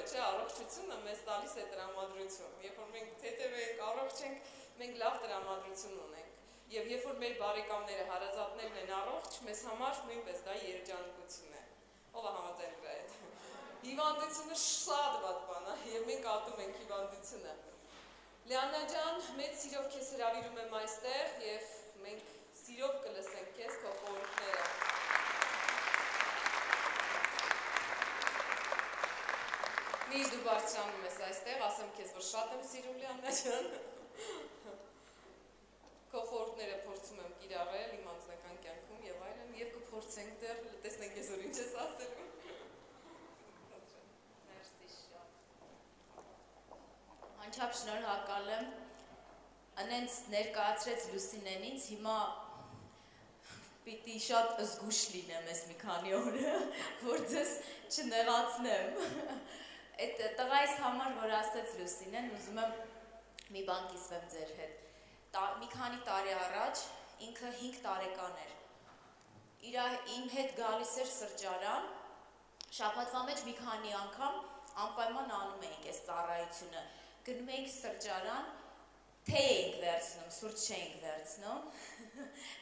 է, չէ, առողջությունը մեզ տալիս է տրամադրություն։ Երբ որ մենք թեթև ենք, առողջ ենք, մենք լավ տրամադրություն ունենք։ Եվ երբ որ մեր բարեկամները, հարազատներն են առողջ, մեզ համար նույնպես դա երջանկություն է։ Ով է համաձայն դրա հետ։ Հիվանդությունը շատ վատ բան է, եւ մենք ատում ենք հիվանդությունը։ Լիաննա ջան, մեծ սիրով քեզ հրավիրում եմ այստեղ եւ մենք սիրով կլսենք քեզ քո խորհուրդները։ Միշտ դու բարձրանում ես այստեղ, ասեմ քեզ, որ շատ եմ սիրում Լիաննա ջան։ Քո խորհուրդները փորձում եմ կիրառել իմ անձնական կյանքում եւ այլն, եւ կփորձենք դեռ տեսնենք ես որ ինչ ես ասելու։ Մերսի շատ։ Անչափ շնորհակալ եմ։ Անենց ներկայացրեց Լուսինեն ինձ, հիմա պիտի շատ զգուշ լինեմ ես մի քանի օրը, որ ձեզ չնեղացնեմ։ Այդ տղայիս համար, որ ասեց Լուսինեն, ուզում եմ մի բան կիսվեմ ձեր հետ։ Մի քանի տարի առաջ ինքը 5 տարեկան էր։ Իմ հետ գալիս էր սրճարան, շաբաթվա մեջ մի քանի անգամ անպայման անում էինք այս ծառայությունը։ Գնում էինք սրճարան, թե էինք վերցնում, սուրճ չէինք վերցնում։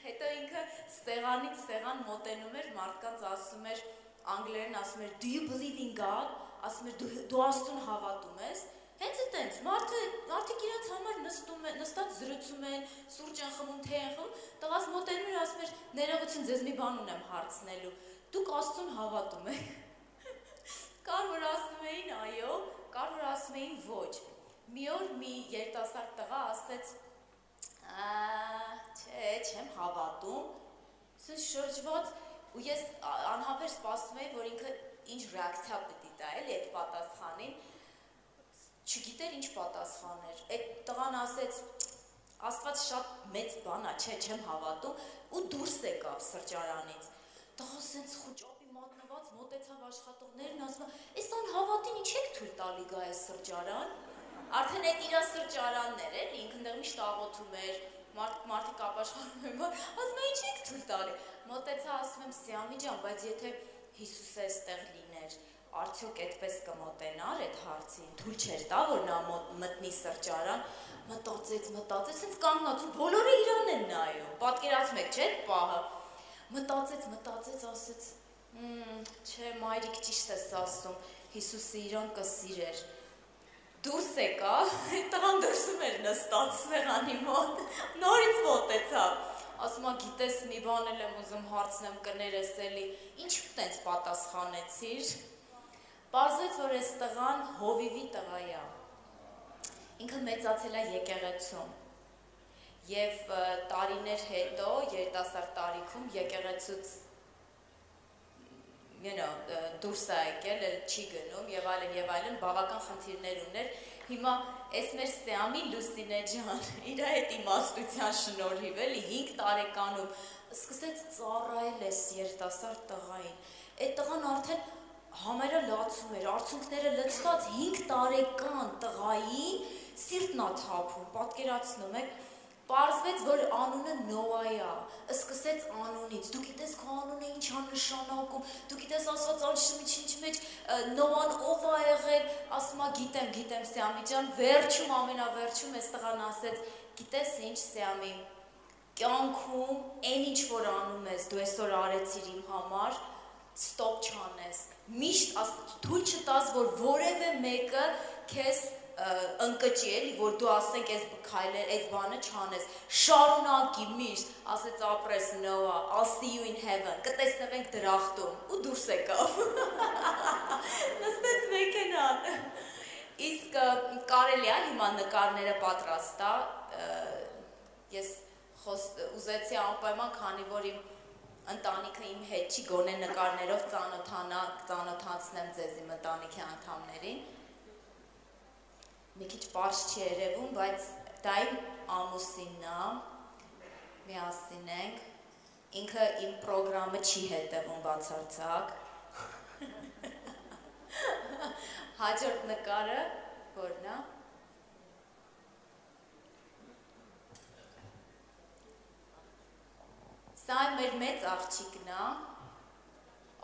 Հետո ինքը ստեղանից ստեղան մոտենում էր, մարդկանց ասում էր, անգլերեն ասում էր, do you believe in God? Ասում էր, դու Աստծուն հավատում ես։ Հենց այդտենց, մարդիկ իրաց համար նստած զրուցում են, սուրճ են խմում, թե են խմում, տղաս մոտենում էր, ասում էր, ներողություն, ձեզ մի բան ունեմ հարցնելու, դուք Աստծուն հավատում եք։ Կար որ ասում էին այո, կար որ ասում էին ոչ։ Մի օր մի երիտասարդ տղա ասեց, չէ, չեմ հավատում, ասես շրջված, ու ես անհապեր սպասում էի, որ ինքը ինչ ռեակցիա պիտի տա, էլի այդ պատասխանին, չգիտեր ինչ պատասխան էր, այդ տղան ասեց, Աստված շատ մեծ բան է, չէ, չեմ հավատում, ու դուրս եկավ սրճարանից, տղա սենց խուճապի մատնված, մոտեցավ աշխատողներն, ասում է, այս անհավատին ինչ եք թույլ տալի գա այս սրճարան, արդեն այդ իրա սրճարաններ էր, ինքն դեղ միշտ աղոթում էր, մարդիկ ապաշխարում են, ասում է, ինչ եք թույլ տալի, մոտեցա, ասում եմ, Սիամի ջան, բայց եթե Հիսուսը այստեղ լիներ, արդյոք այդպես կմոտենար այդ հարցին, թույլ չէր տա, որ նա մտնի սրճարան, մտածեց, հենց կանգնած ու բոլորը իրան են նայում, պատկերացնում եք, չէ՞ այդ պահը, մտածեց, ասեց, չէ, մայրիկ ճիշտ ես ասում, Հիսուսը իրան կսիրեր, դուրս եկա, այդ տղան դրսում էր նստած սեղանի մոտ, նորից մոտեցավ, ասում է, գիտես, մի բան էլ եմ ուզում հարցնեմ, կներես էլի, ինչ տենց պատասխանեցիր, պարզեց, որ այս տղան հովիվի տղա է, ինքը մեծացել է եկեղեցում և տարիներ հետո, երիտասարդ տարիքում եկեղեցուց դուրս է եկել, չի գնում և այլն, բավական խնդիրներ ուներ, հիմա այս մեր Սեամի Լուսինե ջան, իր այդ իմաստության շնորհիվ էլի 5 տարեկանում սկսեց ծառայել այս երիտասարդ տղային, այդ տղան արդեն համերը լացում էր, արցունքները լցված 5 տարեկան տղային սիրտն է թափում, պատկերացնում եք, պարզվեց, որ անունը Նոա է, սկսեց անունից, դու գիտես քո անունը ինչ է նշանակում, դու գիտես ասված անշմիչինչ մեջ Նոան ով է եղել, ասում է գիտեմ Սեամի ջան, վերջում, ամենավերջում այս տղան ասեց, գիտես ինչ Սեամի, կյանքում այն ինչ որ անում ես, դու այսօր արեցիր իմ համար, ստոպ չանես, միշտ թույլ չտաս, որ որևէ մեկը քեզ ընկճի էլի, որ դու ասենք այս բանը չանես, շարունակի միշտ, ասեց ապրես Նոա, I'll see you in heaven, կտեսնվենք դրախտում, ու դուրս եկավ, նստեց մեքենան, իսկ կարելի է հիմա նկարները պատրաստա, ես ուզեցի անպայման, քանի որ իմ ընտանիքը իմ հետ չի, գոնե նկարներով ծանոթացնեմ ձեզ իմ ընտանիքի անդամներին, մի քիչ պարզ չի երևում, բայց դա իմ ամուսինն է, միասին ենք, ինքը իմ պրոգրամը չի հետևում բացարձակ, հաջորդ նկարը, որն է, սա մեր մեծ աղջիկն է,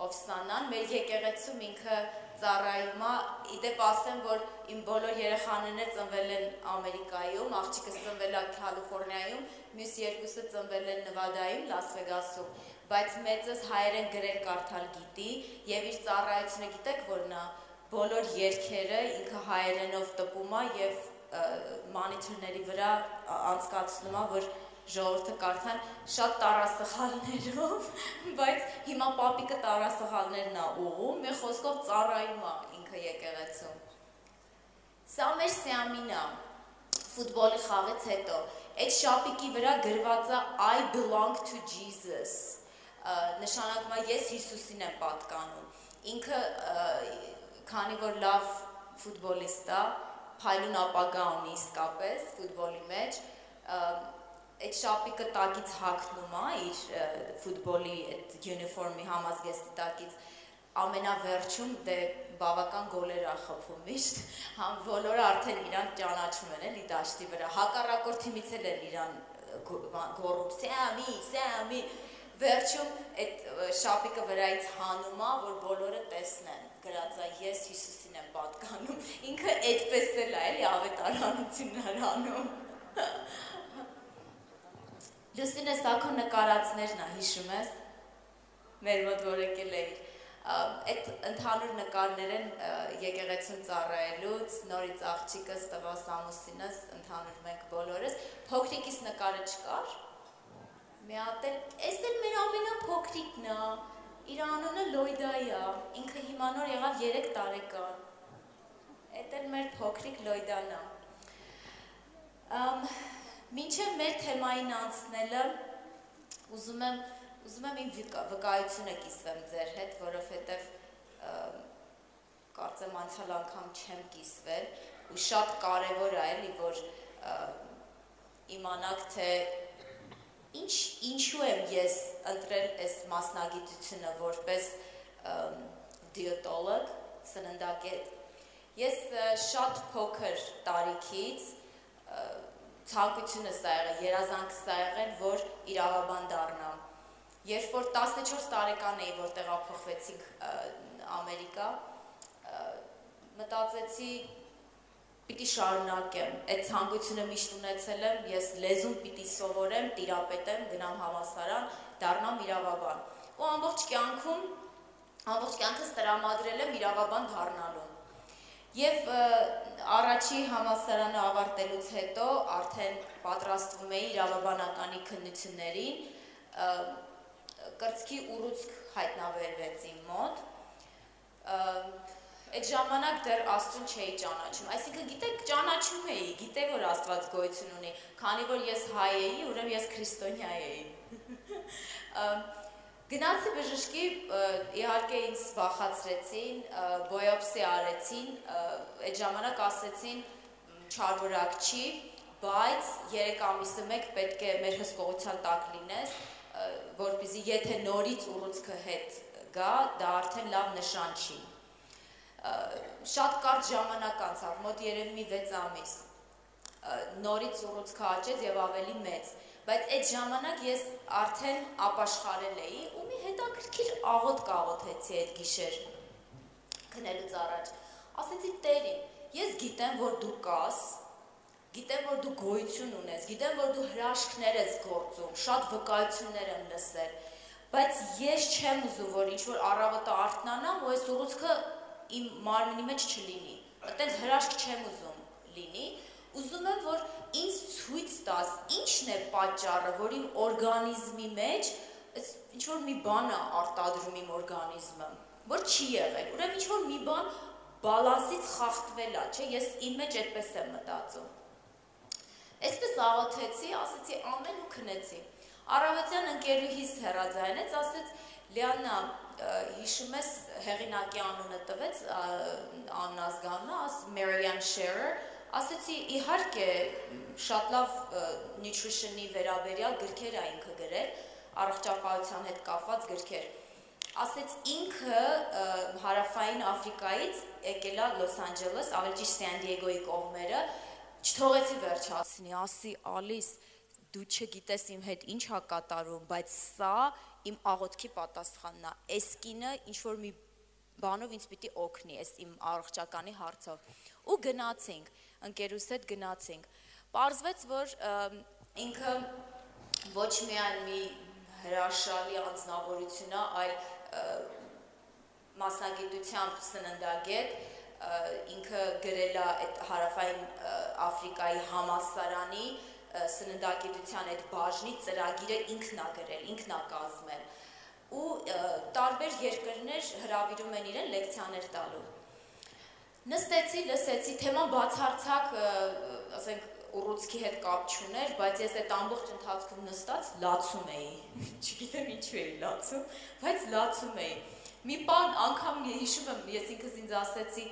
Օվսանան, մեր եկեղեցում ինքը ծառայում է, իդեպ ասեմ, որ իմ բոլոր երեխաներն ծնվել են Ամերիկայում, աղջիկս ծնվել է Կալիֆոռնիայում, մյուս երկուսը ծնվել են Նվադայում, Լաս Վեգասում, բայց մեծս հայերեն գրել կարդալ գիտի եւ իր ծառայությունը գիտեք որ նա բոլոր երգերը ինքը հայերենով տպում է եւ մոնիթորների վրա անցկացնում է որ ժողովուրդը կարդան շատ տարասխալներով, բայց հիմա պապիկը տարասխալներն է ուղում, մի խոսքով ծառայում է ինքը եկեղեցում։ Սա մեր Սիամին է, ֆուտբոլի խաղից հետո, այդ շապիկի վրա գրված է I belong to Jesus, նշանակում է ես Հիսուսին եմ պատկանում, ինքը քանի որ լավ ֆուտբոլիստ է, փայլուն ապագա ունի իսկապես ֆուտբոլի մեջ, այդ շապիկը տակից հագնում է իր ֆուտբոլի այդ յունիֆորմի համազգեստի տակից ամենավերջում դե բավական գոլեր է խփում միշտ, բոլորը արդեն իրան ճանաչում են էլի դաշտի վրա, հակառակորդ թիմից էլ են իրան գոռում Սամի, վերջում այդ շապիկը վրայից հանում է, որ բոլորը տեսնեն, գրած է ես Հիսուսին եմ պատկանում, ինքը այդպես էլ է էլի ավետարանություններ անում։ Լուսինե, սա քո նկարածներն է, հիշում ես, մեր մոտ որ եկել էիր, այդ ընդհանուր նկարներ են եկեղեցուն ծառայելուց, նորից աղջիկս, տղաս, ամուսինս, ընդհանուր մենք բոլորս, փոքրիկիս նկարը չկար, մի հատ էլ, էս էլ մեր ամենափոքրիկն է, իր անունը Լոյդայի է, ինքը հիմա նոր եղավ 3 տարեկան, այդ էլ մեր փոքրիկ Լոյդան է։ Մինչև մեր թեմային անցնելը ուզում եմ իմ վկայությունը կիսվեմ ձեր հետ, որովհետև կարծեմ անցյալ անգամ չեմ կիսվել ու շատ կարևոր է էլի, որ իմանաք, թե ինչու եմ ես ընտրել այս մասնագիտությունը որպես դիետոլոգ, սննդակետ։ Ես շատ փոքր տարիքից ցանկությունս ա եղել, երազանքս ա եղել, որ իրավաբան դառնամ։ Երբ որ 14 տարեկան էի, որ տեղափոխվեցինք Ամերիկա, մտածեցի պիտի շարունակեմ, այդ ցանկությունը միշտ ունեցել եմ, ես լեզուն պիտի սովորեմ, տիրապետեմ, գնամ համալսարան, դառնամ իրավաբան։ Ու ամբողջ կյանքս տրամադրել եմ իրավաբան դառնալու։ Եվ առաջի համալսարանը ավարտելուց հետո արդեն պատրաստվում էի իրավաբանականի քննություններին, կրծքի ուռուցք հայտնաբերվեց իմ մոտ, այդ ժամանակ դեռ Աստծուն չէի ճանաչում, այսինքն գիտեք ճանաչում էի, գիտեի որ Աստված գոյություն ունի, քանի որ ես հայ էի, ուրեմն ես քրիստոնյա էի։ Գնացի բժշկի, իհարկե ինձ վախացրեցին, բոյոպսի արեցին, այդ ժամանակ ասեցին չարվորակ չի, բայց 3 ամիսը մեկ պետք է մեր հսկողության տակ լինես, որպեսզի եթե նորից ուռուցքը հետ գա, դա արդեն լավ նշան չի։ Շատ կարճ ժամանակ անցավ, մոտ երևի մի 6 ամիս, նորից ուռուցքը աճեց եւ ավելի մեծ, բայց այդ ժամանակ ես արդեն ապաշխարել էի ու մի հետաքրքիր աղոտ կաղոթեցի այդ գիշեր քնելուց առաջ, ասեցի Տերին, ես գիտեմ, որ դու կաս, գիտեմ, որ դու գոյություն ունես, գիտեմ, որ դու հրաշքներ ես գործում, շատ վկայություններ եմ լսել, բայց ես չեմ ուզում, որ ինչ-որ առավոտը արթնանամ ու այս ուռուցքը իմ մարմնի մեջ չլինի, այտենց հրաշք չեմ ուզում լինի, ուզում եմ, որ ինձ ցույց տաս, ինչն է պատճառը, որ իմ օրգանիզմի մեջ ինչ-որ մի բան է արտադրում իմ օրգանիզմը, որ չի եղել, ուրեմն ինչ-որ մի բան բալանսից խախտվել է, չէ, ես իմ մեջ այդպես եմ մտածում։ Այսպես աղոթեցի, ասեցի ամեն ու քնեցի։ Առավոտյան ընկերուհիս հեռաձայնեց, ասեց Լիաննա, հիշում ես հեղինակի անունը տվեց, անազգանունը, Marian Sharer, ասեցի իհարկե շատ լավ nutrition-ի վերաբերյալ գրքեր է ինքը գրել, առողջապահության հետ կապված գրքեր։ Ասեց ինքը հարավային Աֆրիկայից եկել է Լոս Անջելես, ավելի ճիշտ Սան Դիեգոյի կողմերը, չթողեցի վերջացնի, ասի Ալիս, դու չգիտես իմ հետ ինչ է կատարում, բայց սա իմ աղոթքի պատասխանն է, այս կինը ինչ-որ մի բանով ինձ պիտի օգնի այս իմ առողջականի հարցով։ Ու գնացինք, ընկերուս հետ գնացինք։ Պարզվեց, որ ինքը ոչ միայն մի հրաշալի անձնավորություն է, այլ մասնագիտությամբ սննդագետ, ինքը գրել է այդ Հարավային Աֆրիկայի համալսարանի սննդագիտության այդ բաժնի ծրագիրը ինքն է գրել, ինքն է կազմել ու տարբեր երկրներ հրավիրում են իրեն լեկցիաներ տալու։ Նստեցի, լսեցի, թեման բացարձակ, ասենք, ուռուցքի հետ կապ չուներ, բայց ես այդ ամբողջ ընթացքում նստած լացում էի, չգիտեմ ինչու էի լացում, բայց լացում էի։ Մի բան անգամ հիշում եմ, ես ինքս ինձ ասեցի,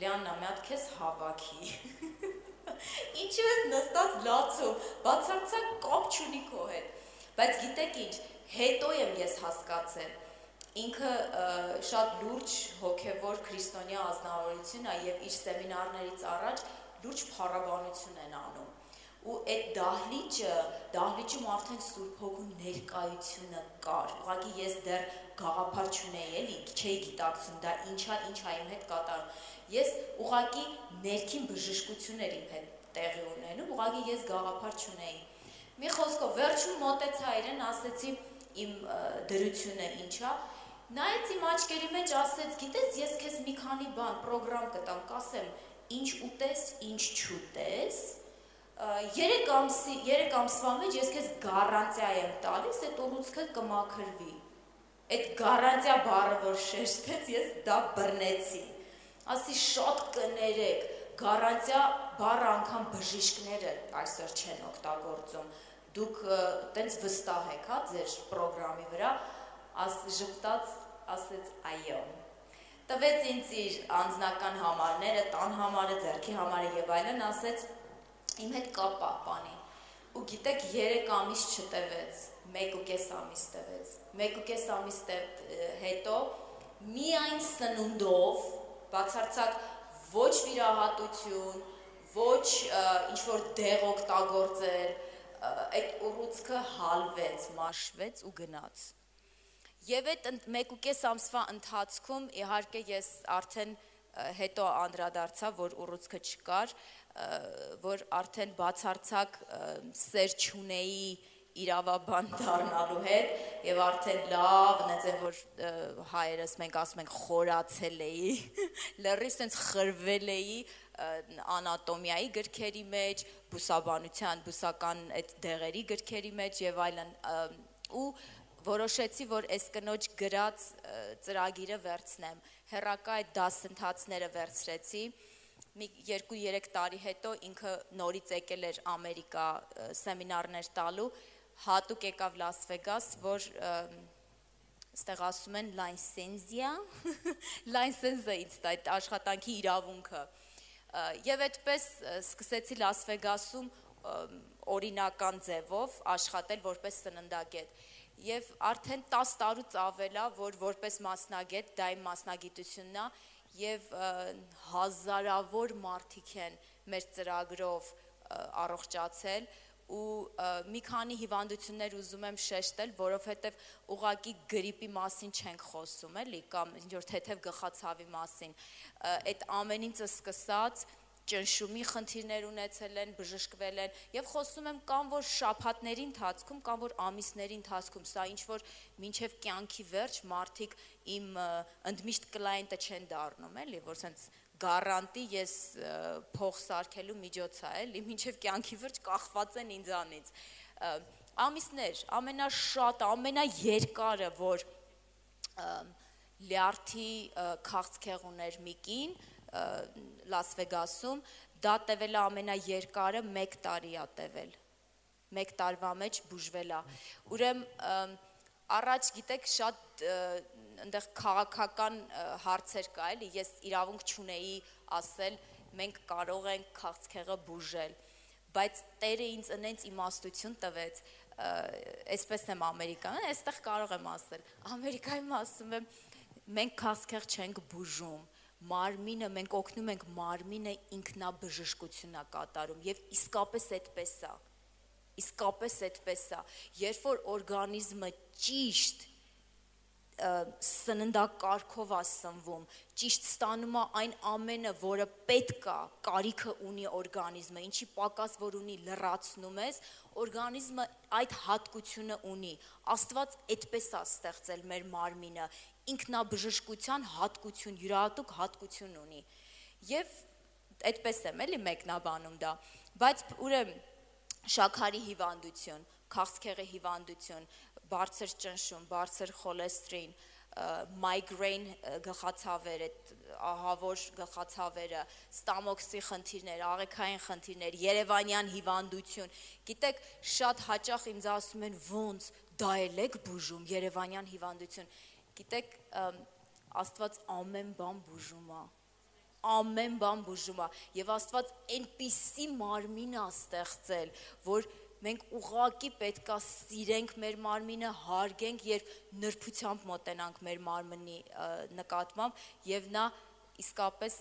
Լիաննա, մի հատ քեզ հավաքի։ Ինչու ես նստած լացում, բացարձակ կապ չունի քո հետ։ Բայց գիտեք ինչ, հետո եմ ես հասկացել, ինքը շատ լուրջ հոգևոր քրիստոնյա ազնվորություն է եւ իր սեմինարներից առաջ լուրջ փառաբանություն են անում։ Ու այդ դահլիճում արդեն Սուրբ Հոգու ներկայությունը կար։ Ուղղակի ես դեռ գաղափար չունեի, էլի, չէի գիտակցում դա ինչա իմ հետ կատարում։ Ես ուղղակի ներքին բժշկություն էր իմ հետ տեղի ունենում, ուղղակի ես գաղափար չունեի։ Մի խոսքով վերջում մոտեցա իրեն, ասեցի իմ դրությունը ինչա։ Նայեց իմ աչքերի մեջ, ասեց, գիտես, ես քեզ մի քանի բան պրոգրամ կտամ, կասեմ, ինչ ուտես, ինչ չուտես։ 3 ամսվա մեջ ես քեզ գարանտիա եմ տալիս, այդ ուռուցքը կմաքրվի։ Այդ գարանտիա բառը որ շեշտեց, ես դա բռնեցի։ Ասի շատ կներեք, գարանտիա բառը անգամ բժիշկները այսօր չեն օգտագործում։ Դուք տենց վստահ եք, հա, ձեր պրոգրամի վրա, ժպտաց, ասեց այո։ Տվեց ինձ իր անձնական համարները, տան համարը, ձեռքի համարը եւ այլն, ասեց իմ հետ կապ պահպանի։ Ու գիտեք 3 ամիս չտևեց, 1.5 ամիս տևեց։ 1.5 ամիս հետո միայն սնունդով, բացարձակ ոչ վիրահատություն, ոչ ինչ որ դեղ օգտագործել, այդ ուռուցքը հալվեց, մաշվեց ու գնաց։ Եվ այդ 1.5 ամսվա ընթացքում իհարկե ես արդեն հետո անդրադարձա, որ ուռուցքը չկար, որ արդեն բացարձակ սեր չունեի իրավաբան դառնալու հետ եւ արդեն լավ, նենց որ հայերս մենք ասում ենք խորացել էի, լրիվ sense խրվել էի անատոմիայի գրքերի մեջ, բուսաբանության, բուսական այդ դեղերի գրքերի մեջ եւ այլն ու որոշեցի, որ այս կնոջ գրած ծրագիրը վերցնեմ, հեռակա այդ դասընթացները վերցրեցի, մի 2-3 տարի հետո ինքը նորից եկել էր Ամերիկա սեմինարներ տալու, հատուկ եկավ Լաս Վեգաս, որ ստեղ ասում են լայսենզիա, լայսենզը ինձ տա, այդ աշխատանքի իրավունքը, եւ այդպես սկսեցի Լաս Վեգասում օրինական ձևով աշխատել որպես սննդագետ, եւ արդեն 10 տարուց ավել է, որ որպես մասնագետ, դա իմ մասնագիտությունն է, եւ հազարավոր մարդիկ են մեր ծրագրով առողջացել ու մի քանի հիվանդություններ ուզում եմ շեշտել, որովհետեւ ուղղակի գրիպի մասին չենք խոսում, էլի, կամ ինչ-որ թեթև գլխացավի մասին, այդ ամեն ինչը սկսած ճնշումի խնդիրներ ունեցել են, բժշկվել են եւ խոսում եմ կամ որ շաբաթների ընթացքում, կամ որ ամիսների ընթացքում, սա ինչ որ մինչեւ կյանքի վերջ մարդիկ իմ ընդմիշտ կլայենտը չեն դառնում, էլի, որ sense գարանտի ես փող սարքելու միջոց է, էլի, մինչեւ կյանքի վերջ կախված են ինձանից։ Ամիսներ, ամենաշատը, ամենաերկարը, որ լյարդի քաղցկեղ ուներ մի կին Լաս Վեգասում, դա տևել է ամենաերկարը 1 տարի է տևել, 1 տարվա մեջ բուժվել է, ուրեմն առաջ գիտեք շատ այնտեղ քաղաքական հարցեր կա, էլի, ես իրավունք չունեի ասել, մենք կարող ենք քաղցկեղը բուժել, բայց Տերը ինձ ընենց իմաստություն տվեց, այսպես եմ Ամերիկայում, այստեղ կարող եմ ասել, Ամերիկայում ասում եմ, մենք քաղցկեղ չենք բուժում, մարմինը, մենք օգնում ենք մարմինը ինքնաբժշկություն է կատարում եւ իսկապես այդպես է, երբ որ օրգանիզմը ճիշտ սննդակարգով է սնվում, ճիշտ ստանում է այն ամենը, որը պետք է, կարիքը ունի օրգանիզմը, ինչի պակաս որ ունի լրացնում ես, օրգանիզմը այդ հատկությունը ունի, Աստված այդպես է ստեղծել մեր մարմինը, ինքնաբժշկության հատկություն, յուրահատուկ հատկություն ունի, և այդպես եմ էլի մեկնաբանում դա, բայց ուրեմն շաքարի հիվանդություն, քաղցկեղի հիվանդություն, բարձր ճնշում, բարձր խոլեստրին, migraine գլխացավերը, ահավոր գլխացավերը, ստամոքսի խնդիրներ, աղեքային խնդիրներ, երևանյան հիվանդություն, գիտեք, շատ հաճախ ինձ ասում են ոնց, դա էլ եք բուժում, երևանյան հիվանդություն, գիտեք, Աստված ամեն բան բուժում է, ամեն բան բուժում է, և Աստված այնպիսի մարմին է ստեղծել, որ մենք ուղղակի պետք է սիրենք մեր մարմինը, հարգենք, երբ նրբությամբ մոտենանք մեր մարմնի նկատմամբ, և նա իսկապես,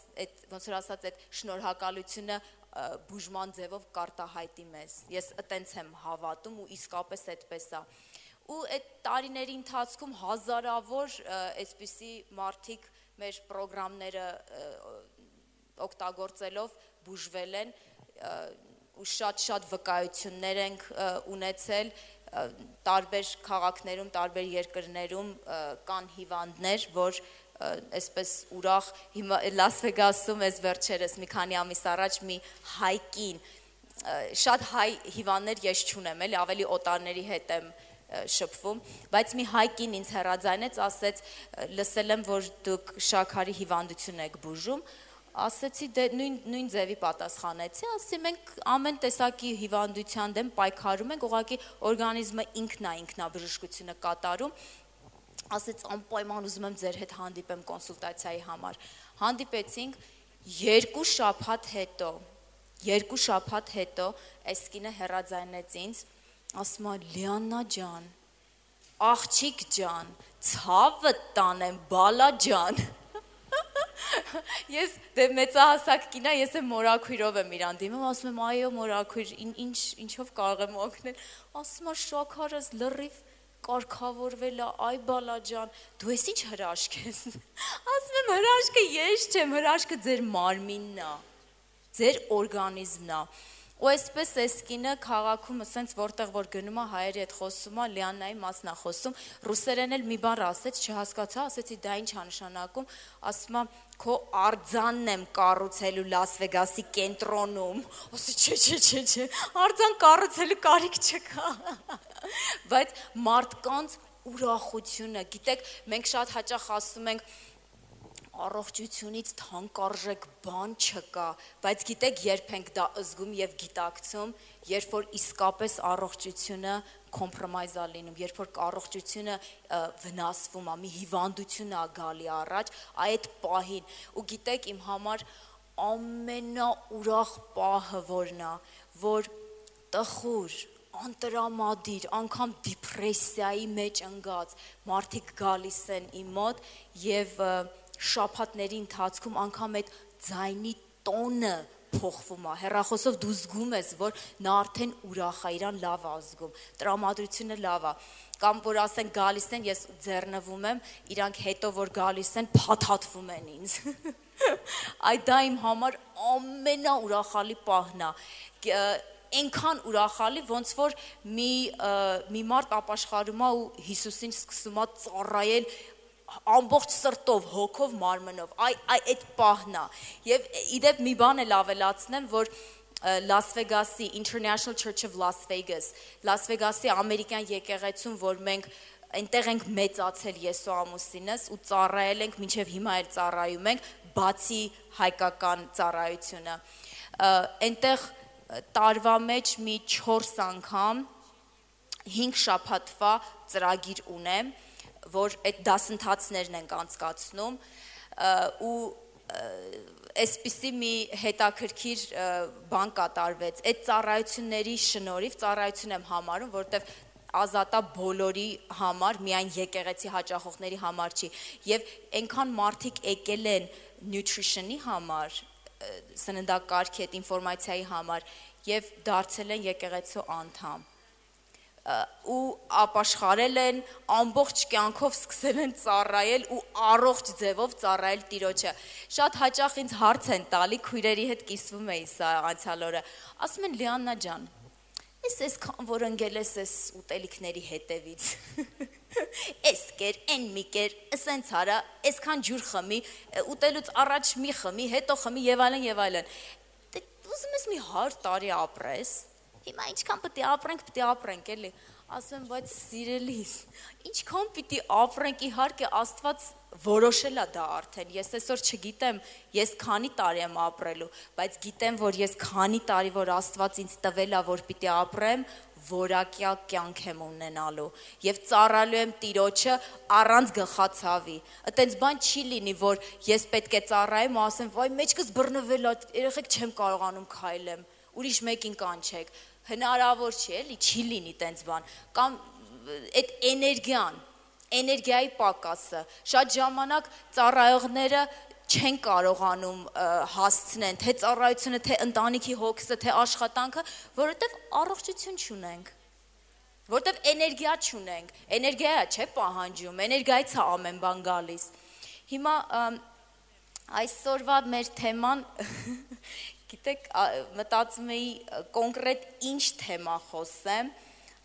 ոնց որ ասած, այդ շնորհակալությունը բուժման ձևով կարտահայտի մեզ, ես այտենց եմ հավատում ու իսկապես այդպես է, ու այդ տարիների ընթացքում հազարավոր այսպիսի մարդիկ մեր պրոգրամները օգտագործելով բուժվել են ու շատ վկայություններ ենք ունեցել, տարբեր քաղաքներում, տարբեր երկրներում կան հիվանդներ, որ այսպես ուրախ, հիմա Լաս Վեգասում ես վերջերս մի քանի ամիս առաջ մի հայկին, շատ հայ հիվանդներ ես չունեմ, էլի ավելի օտարների հետ եմ շփվում, բայց մի հայկին ինձ հեռաձայնեց, ասեց, լսել եմ, որ դուք շաքարի հիվանդություն եք բուժում, ասեցի, դե նույն ձևի պատասխանեցի, ասեցի, մենք ամեն տեսակի հիվանդության դեմ պայքարում ենք, ուղղակի օրգանիզմը ինքնաբժշկությունը կատարում, ասեց, անպայման ուզում եմ ձեր հետ հանդիպեմ կոնսուլտացիայի համար, հանդիպեցինք 2 շաբաթ հետո, այս կինը հեռաձայնեց ինձ, ասում է, Լիաննա ջան, աղջիկ ջան, ցավը տանեմ, բալա ջան, ես դե մեծահասակ կինա, ես եմ մորաքույրով եմ իրան դիմում, ասում եմ, այո մորաքույր, ինչով կարող եմ օգնել, ասում է, շաքարս լրիվ կարգավորվել է, այ բալա ջան, դու ես ինչ հրաշք ես, ասում եմ, հրաշքը ես չեմ, հրաշքը ձեր մարմինն է, ձեր օրգանիզմն է, ու այսպես այս կինը քաղաքում ասենց որտեղ որ գնում է հայերի հետ խոսում է, Լիաննայի մասն է խոսում, ռուսերեն էլ մի բառ ասեց, չհասկացա, ասեցի դա ինչ է նշանակում, ասում է քո արձանն եմ կառուցելու Լաս Վեգասի կենտրոնում, ասեցի չէ, արձան կառուցելու կարիք չկա, բայց մարդկանց ուրախությունը, գիտեք, մենք շատ հաճախ ասում ենք առողջությունից թանկարժեք բան չկա, բայց գիտեք երբ ենք դա զգում և գիտակցում, երբ որ իսկապես առողջությունը compromise է լինում, երբ որ առողջությունը վնասվում է, մի հիվանդություն է գալի առաջ, այդ պահին, ու գիտեք իմ համար ամենաուրախ պահը որն է, որ տխուր, անտրամադիր, անգամ դիպրեսիայի մեջ ընկած մարդիկ գալիս են իմ մոտ և շաբաթների ընթացքում անգամ այդ ձայնի տոնը փոխվում է, հեռախոսով դու զգում ես, որ նա արդեն ուրախ է, իրան լավ է զգում, տրամադրությունը լավ է, կամ որ ասեն գալիս են, ես ձեռնվում եմ, իրանք հետո որ գալիս են, փաթաթվում են ինձ, այդ դա իմ համար ամենաուրախալի պահն է, այնքան ուրախալի, ոնց որ մի մարդ ապաշխարում է ու Հիսուսին սկսում է ծառայել ամբողջ սրտով, հոգով, մարմնով, այդ պահն է, և իդեպ մի բան էլ ավելացնեմ, որ Լաս Վեգասի, International Church of Las Vegas, Լաս Վեգասի ամերիկյան եկեղեցում, որ մենք այնտեղ ենք մեծացել ես ու ամուսինս ու ծառայել ենք, մինչև հիմա էլ ծառայում ենք, բացի հայկական ծառայությունը, այնտեղ տարվա մեջ մի 4 անգամ 5 շաբաթվա ծրագիր ունեմ, որ այդ դասընթացներն ենք անցկացնում ու այսպիսի մի հետաքրքիր բան կատարվեց, այդ ծառայությունների շնորհիվ ծառայություն եմ համարում, որտեվ ազատա բոլորի համար, միայն եկեղեցի հաճախողների համար չի, և այնքան մարդիկ եկել են nutrition-ի համար, սննդակարգի այդ ինֆորմացիայի համար և դարձել են եկեղեցու անդամ, ու ապաշխարել են, ամբողջ կյանքով սկսել են ծառայել ու առողջ ձևով ծառայել Տիրոջը։ Շատ հաճախ ինձ հարց են տալի, քույրերի հետ կիսվում էի սա անցյալ օրը։ Ասում են Լիաննա ջան, այսքան որ ընկել ես այս ուտելիքների հետևից։ Էս կեր, են մի կեր, սենց արա, այսքան ջուր խմի, ուտելուց առաջ մի խմի, հետո խմի եւ այլն եւ այլն։ Ուզում ես մի 100 տարի ապրես։ Հիմա ինչքան պետք է ապրենք, էլի։ Ասում եմ, բայց սիրելիս, ինչքան պիտի ապրենք, իհարկե Աստված որոշել է դա արդեն։ Ես այսօր չգիտեմ, ես քանի տարի եմ ապրելու, բայց գիտեմ, որ ես քանի տարի, որ Աստված ինձ տվել է, որ պիտի ապրեմ, որակյալ կյանք եմ ունենալու եւ ծառալու եմ Տիրոջը առանց գլխացավի։ Այտենց բան չի լինի, որ ես պետք է ծառայեմ ու ասեմ, վայ, մեջքս բռնվել է, երեխեք չեմ կարողանում քայլեմ, ուրիշ մեկին կանչեք։ Հնարավոր չի, էլի, չի լինի տենց բան։ Կամ այդ էներգիայի պակասը։ Շատ ժամանակ ծառայողները չեն կարողանում հասցնեն թե ծառայությունը, թե ընտանիքի հոգսը, թե աշխատանքը, որովհետև առողջություն չունենք, որովհետև էներգիա չունենք, էներգիա չէ պահանջում, էներգիայից է ամեն բան գալիս։ Հիմա այսօրվա մեր թեման, գիտեք, մտածում էի կոնկրետ ինչ թեմա խոսեմ,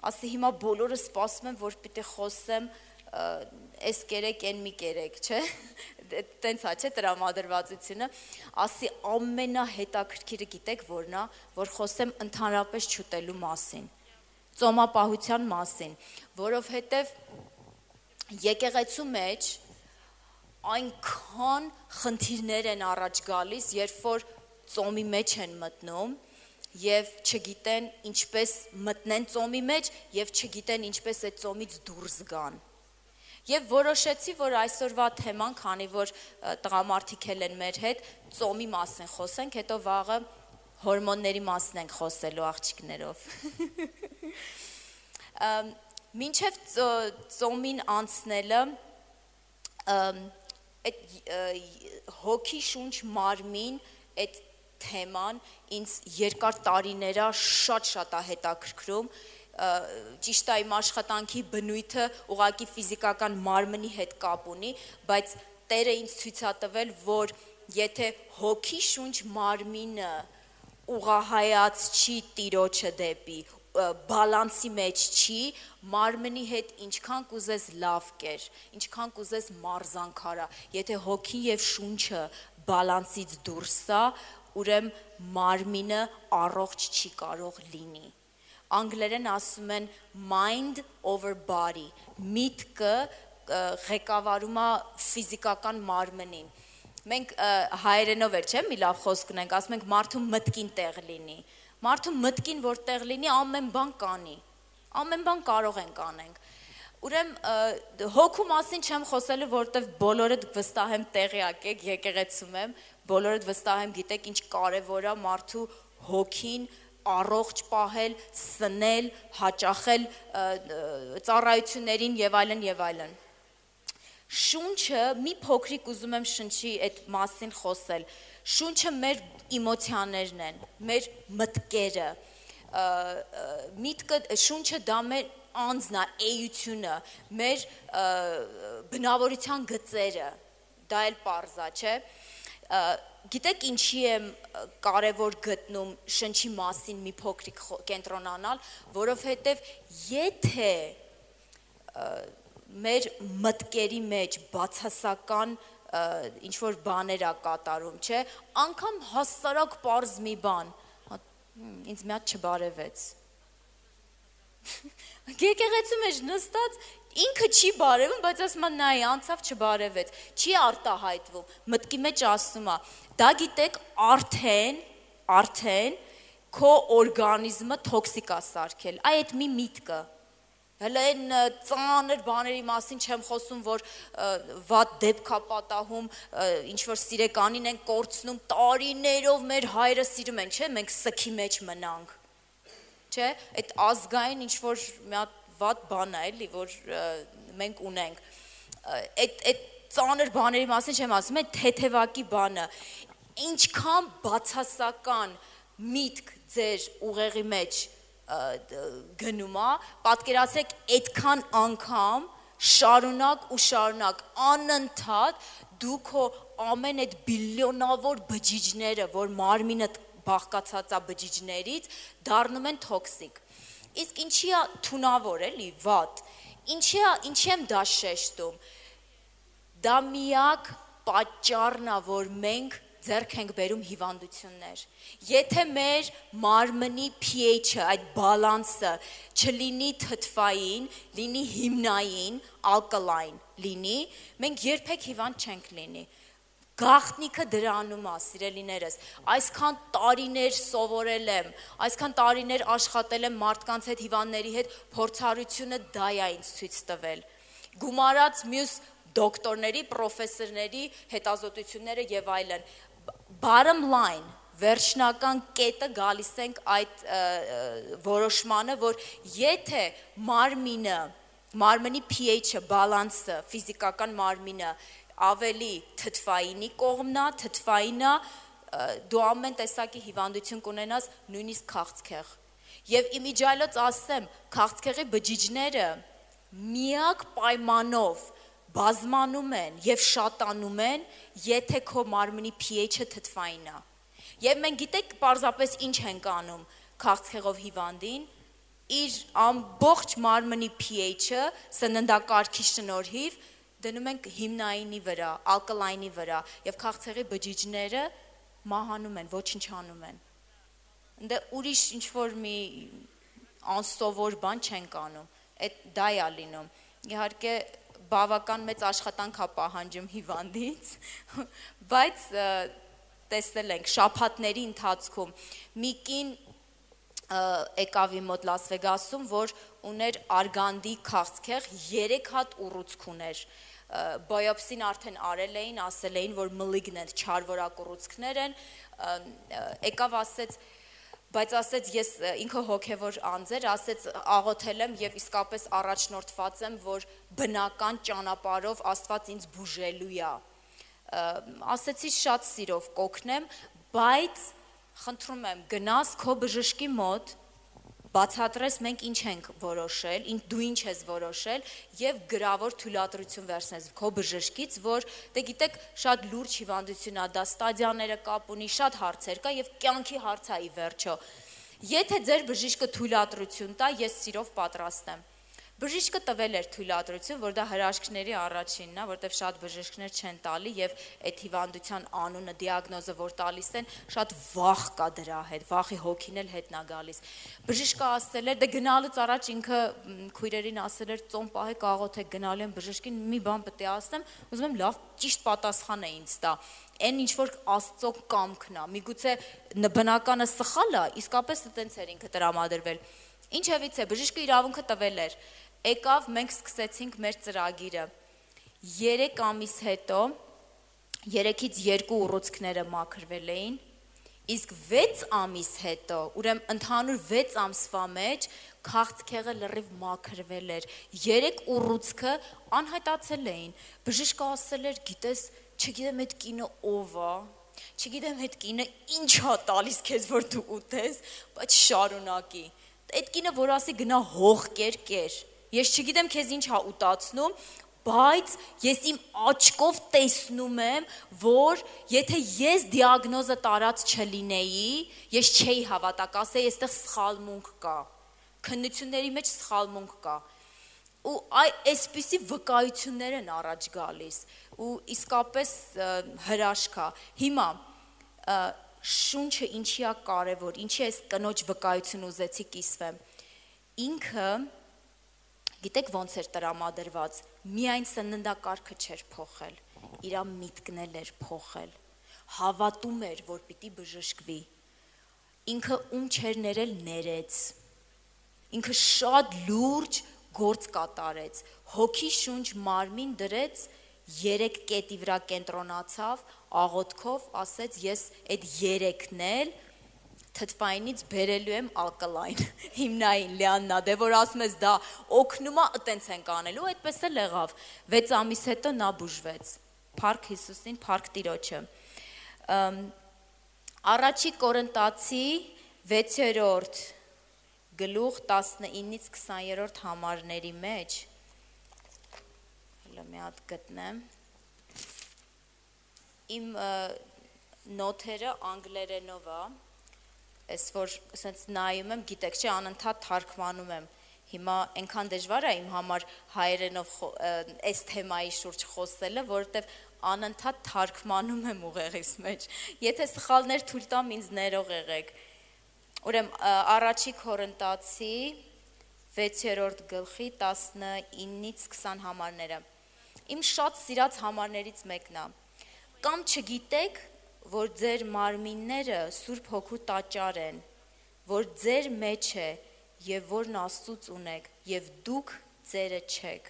ասի հիմա բոլորը սպասում են, որ պիտի խոսեմ այս կերեք, են մի կերեք, չէ, տենց հա չէ տրամադրվածությունը, ասի ամենահետաքրքիրը գիտեք որն է, որ խոսեմ ընդհանրապես չուտելու մասին, ծոմապահության մասին, որովհետև եկեղեցու մեջ այնքան խնդիրներ են առաջ գալիս, երբ որ ծոմի մեջ են մտնում և չգիտեն ինչպես մտնեն ծոմի մեջ և չգիտեն ինչպես այդ ծոմից դուրս գան։ Եվ որոշեցի, որ այսօրվա թեման, քանի որ տղամարդիկ են մեր հետ, ծոմի մասին խոսենք, հետո վաղը հորմոնների մասին ենք խոսելու աղջիկներով։ Մինչև ծոմին անցնելը, հոգի շունչ մարմին, այդ թեման ինձ երկար տարիները շատ է հետաքրքրում, ճիշտ է իմ աշխատանքի բնույթը ուղղակի ֆիզիկական մարմնի հետ կապ ունի, բայց Տերը ինձ ցույց է տվել, որ եթե հոգի շունչ մարմինը ուղղահայաց չի Տիրոջը դեպի, բալանսի մեջ չի, մարմնի հետ ինչքան կուզես լավ կեր, ինչքան կուզես մարզանքարա, եթե հոգին եւ շունչը բալանսից դուրս է, ուրեմն մարմինը առողջ չի կարող լինի։ Անգլերեն ասում են mind over body, միտքը ղեկավարում է ֆիզիկական մարմնին։ Մենք հայերենով էր, չէ՞, մի լավ խոսք ունենք, ասում ենք մարդու մտքին տեղ լինի։ Մարդու մտքին որ տեղ լինի, ամեն բան կանի։ Ամեն բան կարող ենք անենք։ Ուրեմն հոգու մասին չեմ խոսելու, որովհետև բոլորդ վստահ եմ տեղյակ եք, եկեղեցում եմ, բոլորդ վստահ եմ գիտեք ինչ կարևոր է մարդու հոգին առողջ պահել, սնել, հաճախել ծառայություններին եւ այլն եւ այլն։ Շունչը մի փոքրիկ ուզում եմ շնչի այդ մասին խոսել։ Շունչը մեր էմոցիաներն են, մեր մտքերը։ Միտքը շունչը դա մեր անձն է, էությունը, մեր բնավորության գծերը։ Դա էլ պարզ է, չէ՞։ Գիտեք ինչի եմ կարևոր գտնում շնչի մասին մի փոքրիկ կենտրոնանալ, որովհետև եթե մեր մտքերի մեջ բացասական ինչ-որ բաներ ա կատարում, չէ, անգամ հասարակ պարզ մի բան, ինձ մի հատ չբարևեց։ Եկեղեցու մեջ նստած ինքը չի բարևում, բայց ասում է նայ անցավ չբարևեց, չի արտահայտվում, մտքի մեջ ասում է, դա գիտեք արդեն քո օրգանիզմը տոքսիկ է սարքել, այդ մի միտքը, հələ այն ծանր բաների մասին չեմ խոսում, որ վատ դեպք է պատահում, ինչ-որ սիրեկանին են կորցնում, տարիներով մեր հայրը սիրում են, չէ, մենք սքի մեջ մնանք, չէ, այդ ազգային ինչ-որ մի հատ վատ բան է, էլի, որ մենք ունենք, այդ ծանր բաների մասին չեմ ասում, այդ թեթևակի բանը, ինչքան բացասական միտք ձեր ուղեղի մեջ գնում է, պատկերացրեք այդքան անգամ շարունակ անընդհատ դու քո ամեն այդ բիլիոնավոր բջիջները, որ մարմինդ բաղկացած է բջիջներից, դառնում են տոքսիկ։ Իսկ ինչի է թունավոր էլի, վատ։ Ինչի եմ դա շեշտում։ Դա միակ պատճառն է, որ մենք ձեռք ենք բերում հիվանդություններ։ Եթե մեր մարմնի pH-ը, այդ բալանսը չլինի թթվային, լինի հիմնային, ալկալայն լինի, մենք երբեք հիվանդ չենք լինի։ Գաղտնիքը դրանում է, սիրելիներս, այսքան տարիներ սովորել եմ, այսքան տարիներ աշխատել եմ մարդկանց հետ, հիվանդների հետ, փորձառությունը դա է ինձ ցույց տվել։ Գումարած մյուս դոկտորների, պրոֆեսորների հետազոտությունները եւ այլն։ Bottom line, վերջնական կետը գալիս ենք այդ որոշմանը, որ եթե մարմնի pH-ը, բալանսը, ֆիզիկական մարմինը ավելի թթվայինի կողմնա, թթվայինա, դու ամեն տեսակի հիվանդություն կունենաս, նույնիսկ քաղցկեղ։ Եվ իմիջիայլոց ասեմ, քաղցկեղի բջիջները միակ պայմանով բազմանում են եւ շատանում են, եթե քո մարմնի pH-ը թթվային է։ Եվ մենք գիտեք պարզապես ինչ ենք անում քաղցկեղով հիվանդին, իր ամբողջ մարմնի pH-ը սննդակարգի շնորհիվ դնում ենք հիմնայինի վրա, ալկալայնի վրա եւ քաղցկեղի բջիջները մահանում են, ոչնչանում են։ Դե ուրիշ ինչ որ մի անսովոր բան չենք անում, այդ դա է լինում։ Իհարկե բավական մեծ աշխատանք է պահանջում հիվանդից, բայց տեսել ենք շաբաթների ընթացքում մի կին եկավ իմ մոտ Լաս Վեգասում, որ ուներ արգանդի քաղցկեղ, 3 հատ ուռուցք ուներ։ Բոյոպսին արդեն արել էին, ասել էին, որ մլիգնենտ չարվորակ ուռուցքներ են, եկավ ասեց, բայց ասեց ես ինքը հոգևոր անձ էր, ասեց աղոթել եմ եւ իսկապես առաջնորդված եմ, որ բնական ճանապարհով Աստված ինձ բուժելու է։ Ասեցի շատ սիրով կօգնեմ, բայց խնդրում եմ գնաս քո բժշկի մոտ, բացատրես մենք ինչ ենք որոշել, դու ինչ ես որոշել եւ գրավոր թույլատրություն վերցնես քո բժշկից, որ դե գիտեք շատ լուրջ հիվանդություն է, դա ստադիաները կապ ունի, շատ հարցեր կա եւ կյանքի հարց է ի վերջո։ Եթե ձեր բժիշկը թույլատրություն տա, ես սիրով պատրաստ եմ։ Բժիշկը տվել էր թույլատրություն, որ դա հրաշքների առաջինն է, որտեղ շատ բժիշկներ չեն տալի եւ այդ հիվանդության անունը, դիագնոզը, որ տալիս են, շատ վախ կա դրա հետ, վախի հոգին էլ հետն է գալիս։ Բժիշկը ասել էր, դե գնալուց առաջ ինքը քույրերին ասել էր, ծոմ պահեք, աղոթեք, գնալու եմ բժշկին, մի բան պետք է ասեմ, ուզում եմ լավ ճիշտ պատասխան է ինձ տա։ Այն ինչ որ Աստծո կամքն է, միգուցե բնականը սխալ է, իսկապես այդտենց էր ինքը տրամադրվել։ Ինչևից է, բժիշկը իրավունքը տվել էր։ Եկավ, մենք սկսեցինք մեր ծրագիրը։ 3 ամիս հետո 3-ից 2 ուռուցքները մաքրվել էին, իսկ 6 ամիս հետո, ուրեմն ընդհանուր 6 ամսվա մեջ քաղցկեղը լրիվ մաքրվել էր։ 3 ուռուցքը անհայտացել էին։ Բժիշկը ասել էր, գիտես, չգիտեմ այդ կինը ով է, չգիտեմ այդ կինը ինչ է տալիս քեզ, որ դու ուտես, բայց շարունակի։ Այդ կինը որ ասի գնա հող կեր, ես չգիտեմ քեզ ինչ է ուտացնում, բայց ես իմ աչքով տեսնում եմ, որ եթե ես դիագնոզը տարած չլինեի, ես չէի հավատա, կասեի, այստեղ սխալմունք կա, քննությունների մեջ սխալմունք կա, ու այսպիսի վկայություններ են առաջ գալիս, ու իսկապես հրաշք է։ Հիմա շունչը ինչի է կարևոր, ինչի այս կնոջ վկայություն ուզեցի կիսվեմ, ինքը գիտեք ոնց էր տրամադրված, միայն սննդակարգը չէր փոխել, իր միտքն էր փոխել, հավատում էր, որ պիտի բժշկվի, ինքը ում չէր ներել ներեց, ինքը շատ լուրջ գործ կատարեց, հոգի շունչ մարմին դրեց, 3 կետի վրա կենտրոնացավ, աղոթքով ասեց ես այդ 3-ն էլ թթվայինից բերելու եմ ալկալայն, հիմնային լիաննա, դե որ ասում ես դա օգնում է, այտենց ենք անելու, այդպես էլ եղավ, 6 ամիս հետո նա բուժվեց, փառք Հիսուսին, փառք Տիրոջը։ Առաջի Կորինթացի 6-րդ գլուխ 19-ից 20-րդ համարների մեջ, հələ մի հատ գտնեմ, իմ նոթերը անգլերենով է, ես որ նայում եմ, գիտեք չէ, անընդհատ թարգմանում եմ, հիմա այնքան դժվար է իմ համար հայերենով այս թեմայի շուրջ խոսելը, որովհետև անընդհատ թարգմանում եմ ուղեղիս մեջ, եթե սխալներ թույլ տամ ինձ ներող եղեք, ուրեմն առաջի Կորինթացի 6-րդ գլխի 19-ից 20 համարները, իմ շատ սիրած համարներից մեկն է, կամ չգիտեք, որ ձեր մարմինները Սուրբ Հոգու տաճար են, որ ձեր մեջ է և որն Աստծուց ունեք, և դուք ձերը չեք,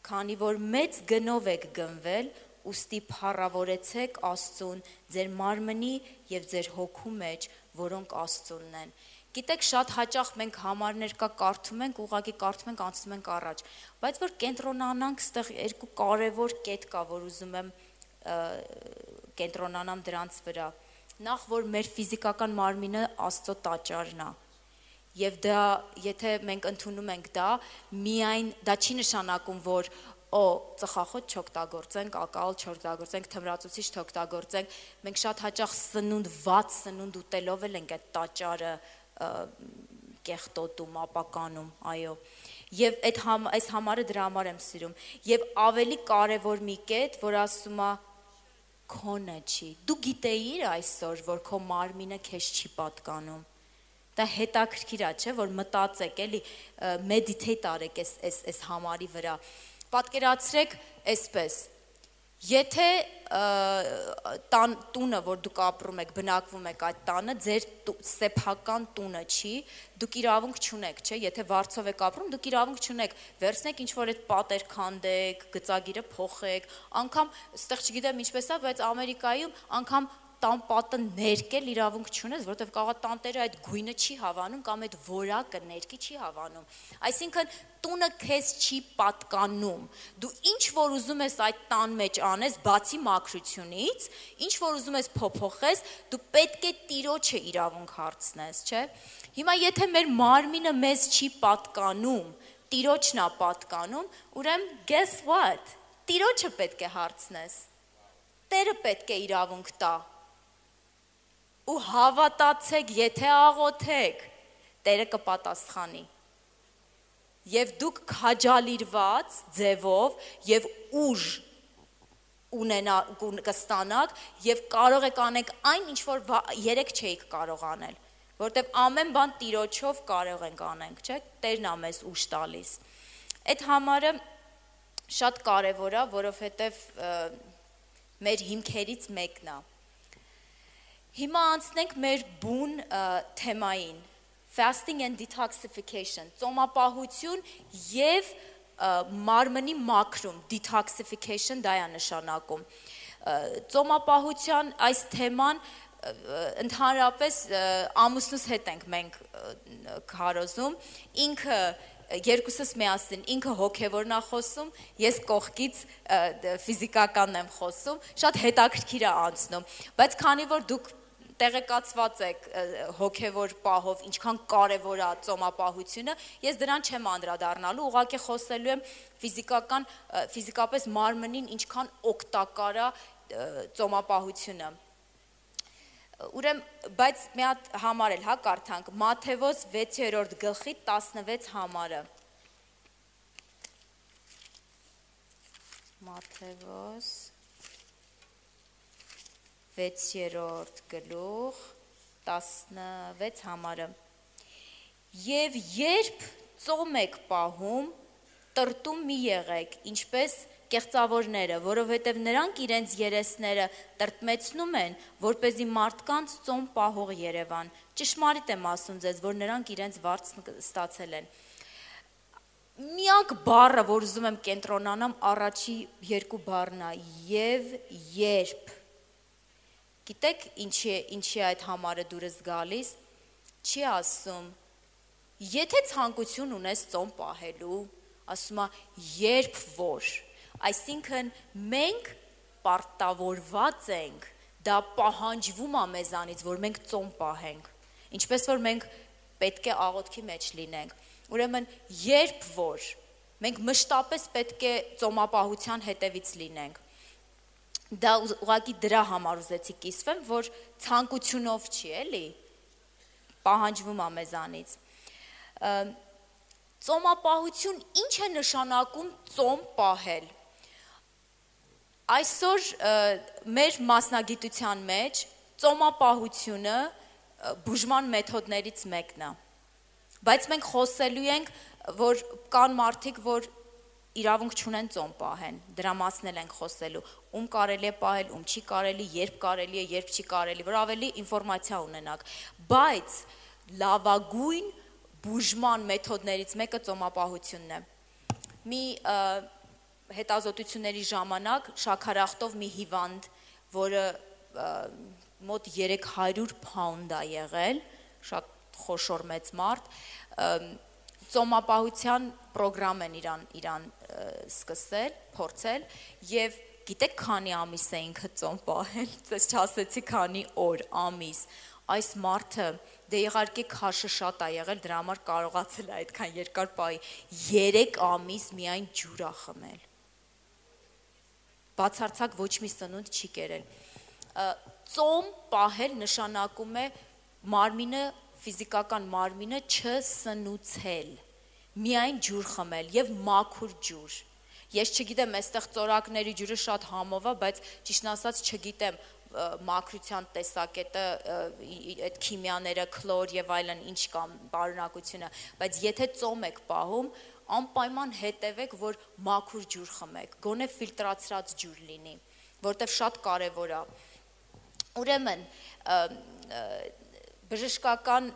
քանի որ մեծ գնով եք գնվել, ուստի փառավորեցեք Աստծուն ձեր մարմնի և ձեր հոգու մեջ, որոնք Աստծունն են։ Գիտեք, շատ հաճախ մենք համարներ կա կարդում ենք, ուղղակի կարդում ենք, անցնում ենք առաջ, բայց որ կենտրոնանանք, ստեղ երկու կարևոր կետ կա, որ ուզում եմ կենտրոնանամ դրանց վրա, նախ որ մեր ֆիզիկական մարմինը Աստծո տաճարն է, և դա, եթե մենք ընդունում ենք դա, միայն, դա չի նշանակում, որ ծխախոտ չօգտագործենք, ակալ չօգտագործենք, թմրածուցիչ չօգտագործենք, մենք շատ հաճախ սնունդ, վատ սնունդ ուտելով էլ ենք այդ տաճարը կեղտոտում, ապականում, այո, և այս համարը դրա համար եմ սիրում, և ավելի կարևոր մի կետ, որ ասում է քոնը չի, դու գիտեիր այսօր, որ քո մարմինը քեզ չի պատկանում, դա հետաքրքիր է, չէ, որ մտածեք, էլի, մեդիթեյտ արեք այս համարի վրա, պատկերացրեք այսպես, եթե տունը, որ դուք ապրում եք, բնակվում եք այդ տանը, ձեր սեփական տունը չի, դուք իրավունք չունեք, չէ, եթե վարձով եք ապրում, դուք իրավունք չունեք, վերցնեք ինչ-որ այդ պատեր քանդեք, գծագիրը փոխեք, անգամ, ստեղ չգիտեմ ինչպես է, բայց Ամերիկայում անգամ տան պատը ներկել իրավունք չունես, որովհետև կարող է տանտերը այդ գույնը չի հավանում կամ այդ որակը ներկի չի հավանում, այսինքն տունը քեզ չի պատկանում, դու ինչ որ ուզում ես այդ տան մեջ անես, բացի մաքրությունից, ինչ որ ուզում ես փոփոխես, դու պետք է Տիրոջը իրավունք հարցնես, չէ, հիմա եթե մեր մարմինը մեզ չի պատկանում, Տիրոջն է պատկանում, ուրեմն guess what, Տիրոջը պետք է հարցնես, Տերը պետք է իրավունք տա, ու հավատացեք, եթե աղոթեք, Տերը կպատասխանի, և դուք քաջալիրված ձևով և ուժ կստանաք և կարող եք անեք այն, ինչ որ երեք չէիք կարող անել, որովհետև ամեն բան Տիրոջով կարող ենք անենք, չէ, Տերն է մեզ ուժ տալիս, այդ համարը շատ կարևոր է, որովհետև մեր հիմքերից մեկն է, հիմա անցնենք մեր բուն թեմային, fasting and detoxification, ծոմապահություն և մարմնի մաքրում, detoxification դա է նշանակում, ծոմապահության այս թեման ընդհանրապես ամուսնուս հետ ենք մենք քարոզում, ինքը երկուսս միասին, ինքը հոգևորն է խոսում, ես կողքից ֆիզիկականն եմ խոսում, շատ հետաքրքիր է անցնում, բայց քանի որ դուք տեղեկացված եք հոգևոր պահով, ինչքան կարևոր է ծոմապահությունը, ես դրան չեմ անդրադառնալու, ուղղակի խոսելու եմ ֆիզիկապես մարմնին ինչքան օգտակար է ծոմապահությունը, բայց մի հատ համար էլ, կարդանք, Մատթեոս 6-րդ գլխի 16 համարը, Մատթեոս 6-րդ գլուխ 16 համարը, և երբ ծոմ եք պահում, տրտում մի եղեք, ինչպես կեղծավորները, որովհետև նրանք իրենց երեսները տրտմեցնում են, որպեսզի մարդկանց ծոմ պահող երևան, ճշմարիտ եմ ասում ձեզ, որ նրանք իրենց վարձն ստացել են, միակ բառը, որ ուզում եմ կենտրոնանամ, առաջի երկու բառն է, և երբ, գիտեք ինչի այդ համարը դուրս գալիս, չի ասում, եթե ցանկություն ունես ծոմ պահելու, ասում է երբ որ, այսինքն մենք պարտավորված ենք, դա պահանջվում է մեզանից, որ մենք ծոմ պահենք, ինչպես որ մենք պետք է աղոթքի մեջ լինենք։ Ուրեմն երբ որ մենք մշտապես պետք է ծոմապահության հետևից լինենք։ Դա ուղղակի դրա համար ուզեցի կիսվեմ, որ ցանկությունով չի, էլի, պահանջվում է մեզանից։ Ծոմապահություն ինչ է նշանակում ծոմ պահել։ Այսօր մեր մասնագիտության մեջ ծոմապահությունը բուժման մեթոդներից մեկն է։ Բայց մենք խոսելու ենք, որ կան մարդիկ, որ իրավունք չունեն ծոմ պահեն, դրա մասն էլ ենք խոսելու, ում կարելի է պահել, ում չի կարելի, երբ կարելի է, երբ չի կարելի, որ ավելի ինֆորմացիա ունենաք, բայց լավագույն բուժման մեթոդներից մեկը ծոմապահությունն է։ Մի հետազոտությունների ժամանակ շաքարախտով մի հիվանդ, որը մոտ 300 փաունդ է եղել, շատ խոշոր մեծ մարդ, ծոմապահության պրոգրամ են իրան սկսել, փորձել եւ գիտեք քանի ամիս է ինքը ծոմ պահել, ես չասեցի քանի օր, ամիս, այս մարդը դե իհարկե քաշը շատ է եղել, դրա համար կարողացել է այդքան երկար պահի, 3 ամիս միայն ջուր է խմել, բացարձակ ոչ մի սնունդ չի կերել, ծոմ պահել նշանակում է մարմինը, ֆիզիկական մարմինը չսնուցել, միայն ջուր խմել եւ մաքուր ջուր։ Ես չգիտեմ, այստեղ ծորակների ջուրը շատ համով է, բայց ճիշտն ասած չգիտեմ մաքրության տեսակետը, այդ քիմիաները, քլոր եւ այլն ինչ կա բարունակությունը, բայց եթե ծոմ եք պահում, անպայման հետևեք, որ մաքուր ջուր խմեք, գոնե ֆիլտրացրած ջուր լինի, որտեվ շատ կարեւոր է։ Ուրեմն բժշկական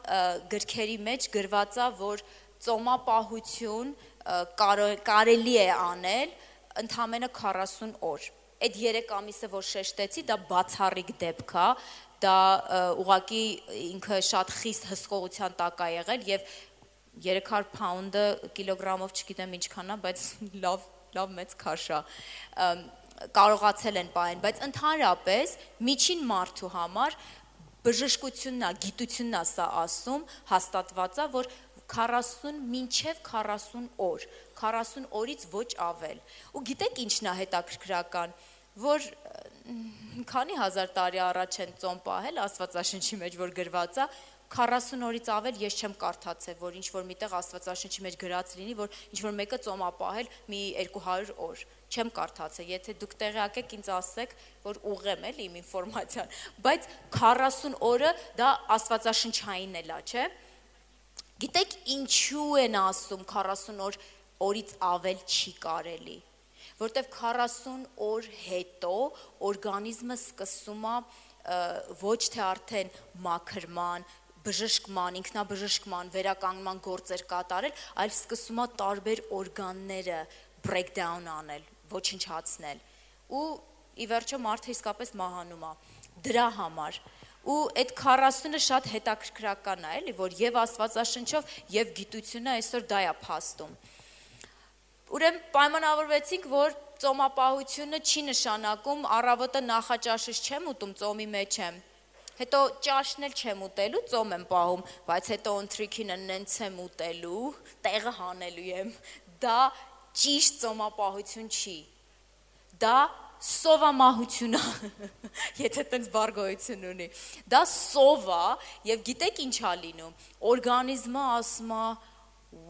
գրքերի մեջ գրված է, որ ծոմապահություն կարելի է անել ընդամենը 40 օր։ Այդ 3 ամիսը, որ շեշտեցի, դա բացառիկ դեպք է, դա ուղղակի ինքը շատ խիստ հսկողության տակ է եղել եւ 300 փաունդը կիլոգրամով չգիտեմ ինչքան է, բայց լավ մեծ քաշ է։ Կարողացել են պահեն, բայց ընդհանրապես միջին մարդու համար բժշկությունն է, գիտությունն է սա ասում, հաստատված է, որ 40 մինչև 40 օր, 40 օրից ոչ ավել։ Ու գիտեք ինչն է հետաքրքրական, որ քանի հազար տարի առաջ են ծոմ պահել, Աստվածաշնչի մեջ որ գրված է, 40 օրից ավել ես չեմ կարդացել, որ ինչ-որ միտեղ Աստվածաշնչի մեջ գրած լինի, որ ինչ-որ մեկը ծոմ է պահել մի 200 օր, չեմ կարդացել, եթե դուք տեղյակ եք ինձ ասեք, որ ուղղեմ էլի իմ ինֆորմացիան, բայց 40 օրը դա Աստվածաշնչային էլ է, չէ՞։ Գիտեք ինչու են ասում 40 օրից ավել չի կարելի, որտեվ 40 օր հետո օրգանիզմը սկսում է ոչ թե արդեն մաքրման, բժշկման, ինքնաբժշկման, վերականգնման գործեր կատարել, այլ սկսում է տարբեր օրգանները breakdown անել, ոչնչացնել, ու ի վերջո մարդը իսկապես մահանում է, դրա համար, ու այդ 40-ը շատ հետաքրքրական է, էլի, որ եւ Աստվածաշնչով եւ գիտությունը այսօր դա է փաստում։ Ուրեմն պայմանավորվեցինք, որ ծոմապահությունը չի նշանակում առավոտը նախաճաշից չեմ ուտում, ծոմի մեջ եմ, հետո ճաշն էլ չեմ ուտելու, ծոմ եմ պահում, բայց հետո ընթրիքինը նենց եմ ուտելու, տեղը հանելու եմ, դա ճիշտ ծոմապահություն չի, դա սովամահություն է, եթե տենց բառ գոյություն ունի, դա սով է եւ գիտեք ինչ է լինում, օրգանիզմը ասում է,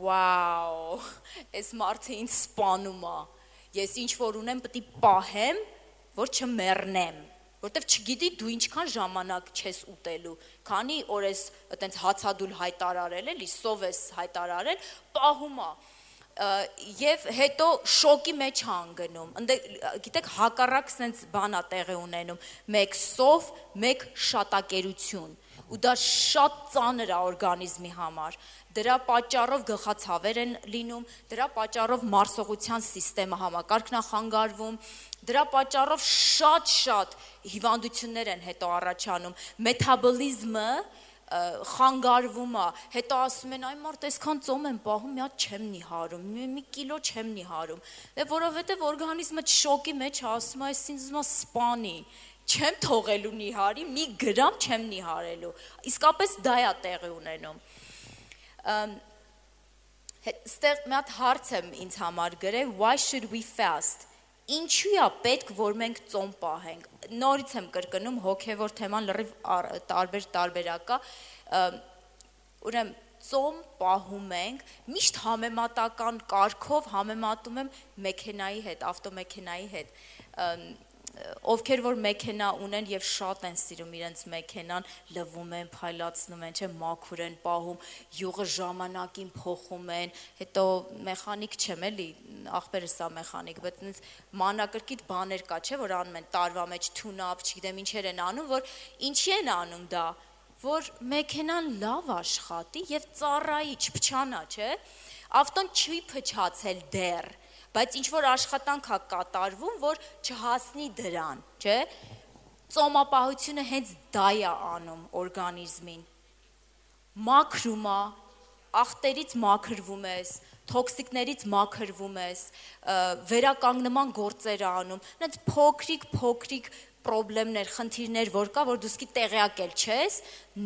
վաու, այս մարդը ինձ սպանում է, ես ինչ որ ունեմ պետք է պահեմ, որ չմեռնեմ, որտեվ չգիտի դու ինչքան ժամանակ չես ուտելու, քանի օր ես այտենց հացադուլ հայտարարել, էլի սով ես հայտարարել, պահում է, եւ հետո շոկի մեջ հանգնում, գիտեք հակառակ սենց բան է տեղի ունենում, մեկ սով, մեկ շատակերություն, ու դա շատ ծանր է օրգանիզմի համար, դրա պատճառով գլխացավեր են լինում, դրա պատճառով մարսողության սիստեմը համակարգն է խանգարվում, դրա պատճառով շատ հիվանդություններ են հետո առաջանում, մետաբոլիզմը խանգարվում է, հետո ասում են, այ մարդ այսքան ծոմ եմ պահում, մի հատ չեմ նիհարում, մի կիլո չեմ նիհարում, որովհետև օրգանիզմը շոկի մեջ ասում է, այս ինձ ուզում է սպանի, չեմ թողելու նիհարի, մի գրամ չեմ նիհարելու, իսկապես դա է տեղի ունենում, Ստեղ մի հատ հարց եմ ինձ համար գրել, why should we fast? Ինչու է պետք, որ մենք ծոմ պահենք։ Նորից եմ կրկնում, հոգևոր թեման լրիվ տարբերակա։ Ուրեմն ծոմ պահում ենք, միշտ համեմատական կարգով համեմատում եմ մեքենայի հետ, ավտոմեքենայի հետ։ Ովքեր որ մեքենա ունեն եւ շատ են սիրում իրենց մեքենան, լվում են, փայլացնում են, չէ, մաքուր են պահում, յուղը ժամանակին փոխում են, հետո մեխանիկ չեմ էլի, ախպերս է մեխանիկ, բայց ինձ մանրակրկիտ բաներ կա, չէ, որ անում են տարվա մեջ թունապ, չգիտեմ ինչեր են անում, որ ինչի են անում դա, որ մեքենան լավ աշխատի եւ ծառայի, չփչանա, չէ, ավտոն չի փչացել դեռ, բայց ինչ-որ աշխատանք է կատարվում, որ չհասնի դրան, չէ, ծոմապահությունը հենց դա է անում օրգանիզմին, մաքրում է, աղտերից մաքրվում ես, թոքսիկներից մաքրվում ես, վերականգնման գործեր անում, նենց փոքրիկ պրոբլեմներ, խնդիրներ, որ կա, որ դու սկի տեղյակ էլ չես,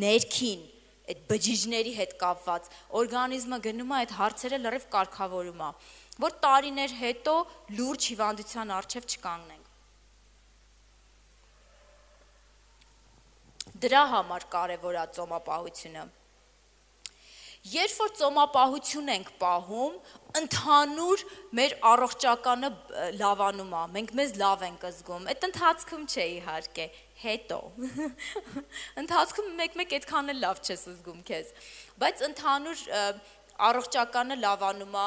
ներքին, այդ բջիջների հետ կապված, օրգանիզմը գնում է այդ հարցերը լրիվ կարգավորում է, որ տարիներ հետո լուրջ հիվանդության առջև չկանգնենք։ Դրա համար կարևոր է ծոմապահությունը։ Երբ որ ծոմապահություն ենք պահում, ընդհանուր մեր առողջականը լավանում է, մենք մեզ լավ ենք զգում, այդ ընթացքում չէ իհարկե, հետո, ընթացքում մեկ այդքան էլ լավ չես զգում քեզ, բայց ընդհանուր առողջականը լավանում է,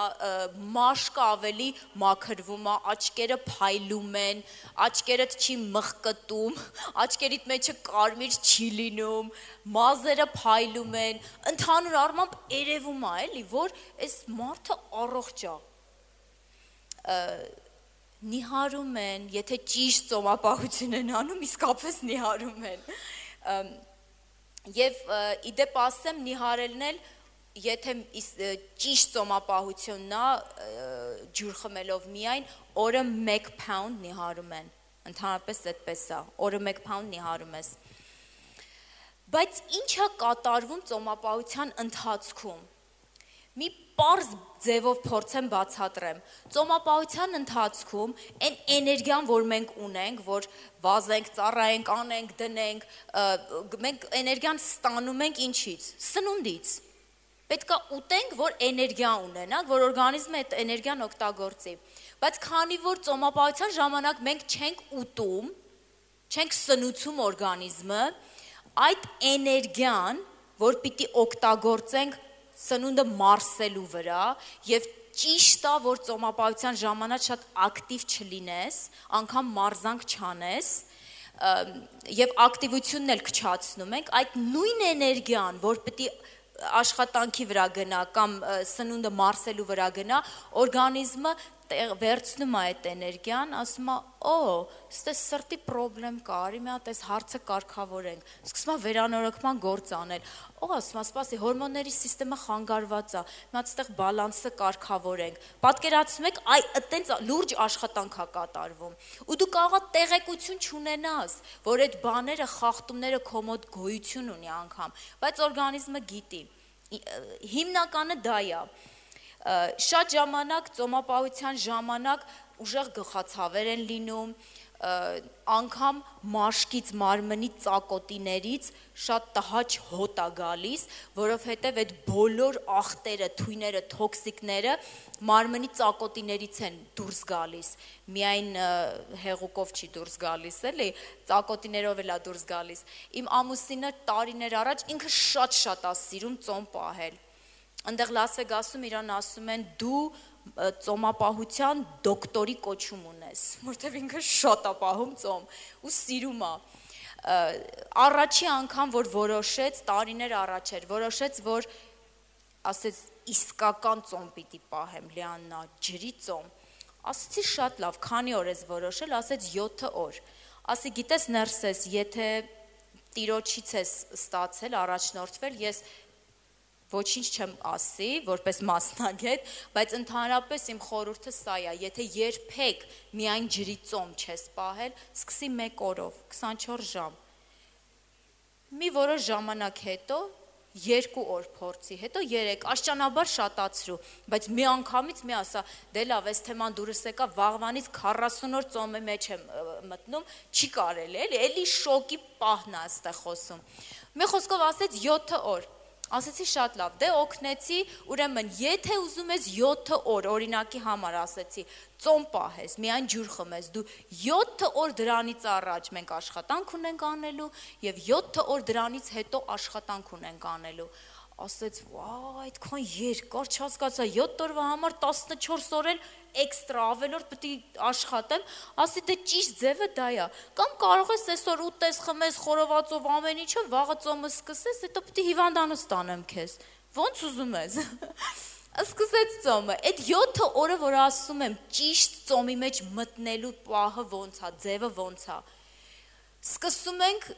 մաշկը ավելի մաքրվում է, աչքերը փայլում են, աչքերդ չի մխկտում, աչքերիդ մեջը կարմիր չի լինում, մազերը փայլում են, ընդհանուր առմամբ երևում է, էլի, որ այս մարդը առողջ է։ Նիհարում են, եթե ճիշտ ծոմապահություն են անում, իսկապես նիհարում են։ Եվ իդեպ ասեմ, նիհարելն էլ եթե ճիշտ ծոմապահությունն է ջուր խմելով միայն, օրը 1 pound նիհարում են, ընդհանրապես այդպես է, օրը 1 pound նիհարում ես։ Բայց ինչ է կատարվում ծոմապահության ընթացքում։ Մի պարզ ձևով փորձեմ բացատրեմ։ Ծոմապահության ընթացքում այն էներգիան, որ մենք ունենք, որ վազենք, ծառայենք, անենք, դնենք, մենք էներգիան ստանում ենք ինչից։ Սնունդից։ Պետք է ուտենք, որ էներգիա ունենանք, որ օրգանիզմը այդ էներգիան օգտագործի։ Բայց քանի որ ծոմապահության ժամանակ մենք չենք ուտում, չենք սնուցում օրգանիզմը, այդ էներգիան, որ պիտի օգտագործենք սնունդը մարսելու վրա եւ ճիշտ է, որ ծոմապահության ժամանակ շատ ակտիվ չլինես, անգամ մարզանք չանես, եւ ակտիվությունն էլ քչացնում ենք, այդ նույն էներգիան, որ պիտի աշխատանքի վրա գնա կամ սնունդը մարսելու վրա գնա, օրգանիզմը վերցնում է այդ էներգիան, ասում է, ստե սրտի պրոբլեմ կա, արի մի հատ այս հարցը կարգավորենք, սկսում է վերանորոգման գործ անել, ասում է, սպասի, հորմոնների սիստեմը խանգարված է, մի հատ ստեղ բալանսը կարգավորենք, պատկերացնում եք, այտենց լուրջ աշխատանք է կատարվում, ու դու կարող ես տեղեկություն չունենաս, որ այդ բաները, խախտումները քո մոտ գոյություն ունի անգամ, բայց օրգանիզմը գիտի, հիմնականը դա է, շատ ժամանակ ծոմապահության ժամանակ ուժեղ գլխացավեր են լինում, անգամ մաշկից մարմնի ծակոտիներից շատ տհաճ հոտ է գալիս, որովհետև այդ բոլոր աղտերը, թույները, թոքսիկները մարմնի ծակոտիներից են դուրս գալիս, միայն հեղուկով չի դուրս գալիս, էլի, ծակոտիներով էլ է դուրս գալիս։ Իմ ամուսինը տարիներ առաջ ինքը շատ է սիրում ծոմ պահել։ Այնտեղ Լաս Վեգասում իրան ասում են դու ծոմապահության դոկտորի կոչում ունես, որտեղ ինքը շատ է պահում ծոմ ու սիրում է։ Առաջի անգամ որ որոշեց, տարիներ առաջ էր, որոշեց, որ ասեց իսկական ծոմ պիտի պահեմ, Լիաննա, ջրի ծոմ։ Ասեցի շատ լավ, քանի օր ես որոշել, ասեց 7 օր։ Ասի գիտես ներսես, եթե տիրոջից ես ստացել, առաջնորդվել, ես ոչինչ չեմ ասի, որպես մասնագետ, բայց ընդհանրապես իմ խորհուրդը սա է, եթե երբեք միայն ջրի ծոմ չես պահել, սկսի 1 օրով, 24 ժամ։ Մի որոշ ժամանակ հետո 2 օր փորձի, հետո 3, աշճանաբար շատացրու, բայց մի անգամից մի ասա, դե լավ, այս թեման դուրս եկա, վաղվանից 40 օր ծոմի մեջ եմ մտնում, չի կարելի, էլի շոկի պահն է այստեղ խոսում։ Մի խոսքով ասեց 7 օր, ասեցի շատ լավ, դե օգնեցի, ուրեմն եթե ուզում ես 7 օր, օրինակի համար ասեցի, ծոմ պահես, միայն ջուր խմես, դու 7 օր դրանից առաջ մենք աշխատանք ունենք անելու և 7 օր դրանից հետո աշխատանք ունենք անելու, ասեց, վայ, այդքան երկար չհասկացա, 7 օրվա համար 14 օր էլ էքստրա ավելորդ պետք է աշխատեմ, ասի դե ճիշտ ձևը դա է, կամ կարող ես այսօր ուտես, խմես, խորովածով ամեն ինչը, վաղը ծոմը սկսես, հետո պետք է հիվանդանոց տանեմ քեզ, ոնց ուզում ես, սկսեց ծոմը, այդ 7 օրը, որ ասում եմ, ճիշտ ծոմի մեջ մտնելու պահը ոնց է, ձևը ոնց է, սկսում ենք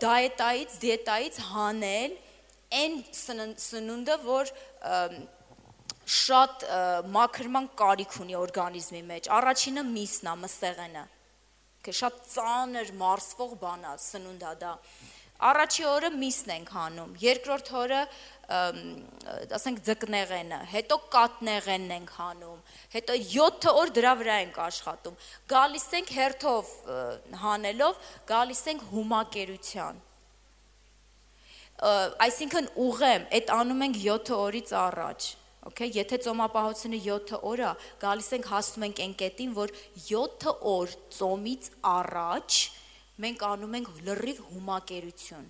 դիետայից հանել այն սնունդը, որ շատ մաքրման կարիք ունի օրգանիզմի մեջ, առաջինը միսն է, մսեղենը, շատ ծանր մարսվող բան է, սնունդ է դա, առաջի օրը միսն ենք հանում, երկրորդ օրը ասենք ձկնեղենը, հետո կաթնեղենն ենք հանում, հետո 7 օր դրա վրա ենք աշխատում, գալիս ենք հերթով հանելով, գալիս ենք հումակերության, այսինքն ուղեմ, այդ անում ենք 7 օրից առաջ, եթե ծոմապահությունը 7 օր է, գալիս ենք հասնում ենք այն կետին, որ 7 օր ծոմից առաջ մենք անում ենք լրիվ հումակերություն,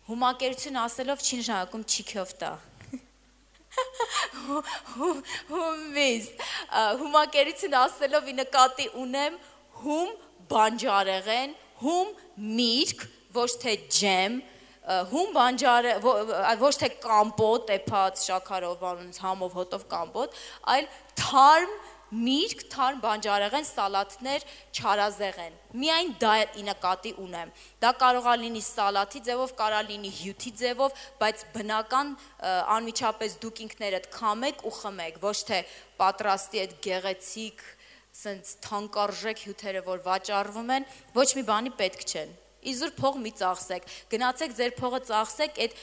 հումակերություն ասելով չի նշանակում չիքով տա, հումակերություն ասելով ի նկատի ունեմ հում բանջարեղեն, հում միրգ, ոչ թե ջեմ, հում բանջարը, ոչ թե կամպոտ, էփած, շաքարով, համով, հոտով կամպոտ, այլ թարմ միրգ, թարմ բանջարեղեն, սալաթներ, չարազեղեն, միայն դա ի նկատի ունեմ, դա կարող է լինի սալաթի ձևով, կարող է լինի հյութի ձևով, բայց բնական անմիջապես դուք ինքներդ քամեք ու խմեք, ոչ թե պատրաստի այդ գեղեցիկ, սենց թանկարժեք հյութերը, որ վաճառվում են, ոչ մի բանի պետք չեն, իզուր փող մի ծախսեք, գնացեք ձեր փողը ծախսեք այդ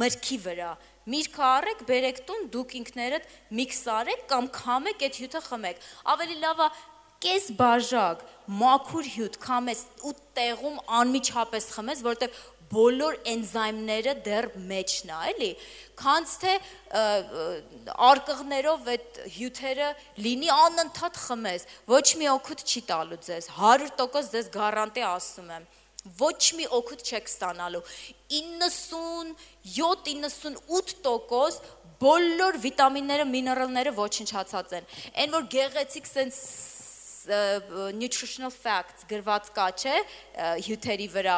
մրգի վրա, միրգը առեք, բերեք տուն, դուք ինքներդ միքս արեք կամ քամեք այդ հյութը խմեք, ավելի լավ է կես բաժակ, մաքուր հյութ քամես ու տեղում անմիջապես խմես, որովհետև բոլոր էնզայմները դեռ մեջն է, էլի, քանց թե արկղներով այդ հյութերը լինի անընդհատ խմես, ոչ մի օգուտ չի տալու ձեզ, 100% ձեզ գարանտի ասում եմ, ոչ մի օգուտ չեք ստանալու, 97-98% բոլոր վիտամինները, միներալները ոչնչացած են, այն որ գեղեցիկ սենց nutritional facts գրված կա, չէ, հյութերի վրա,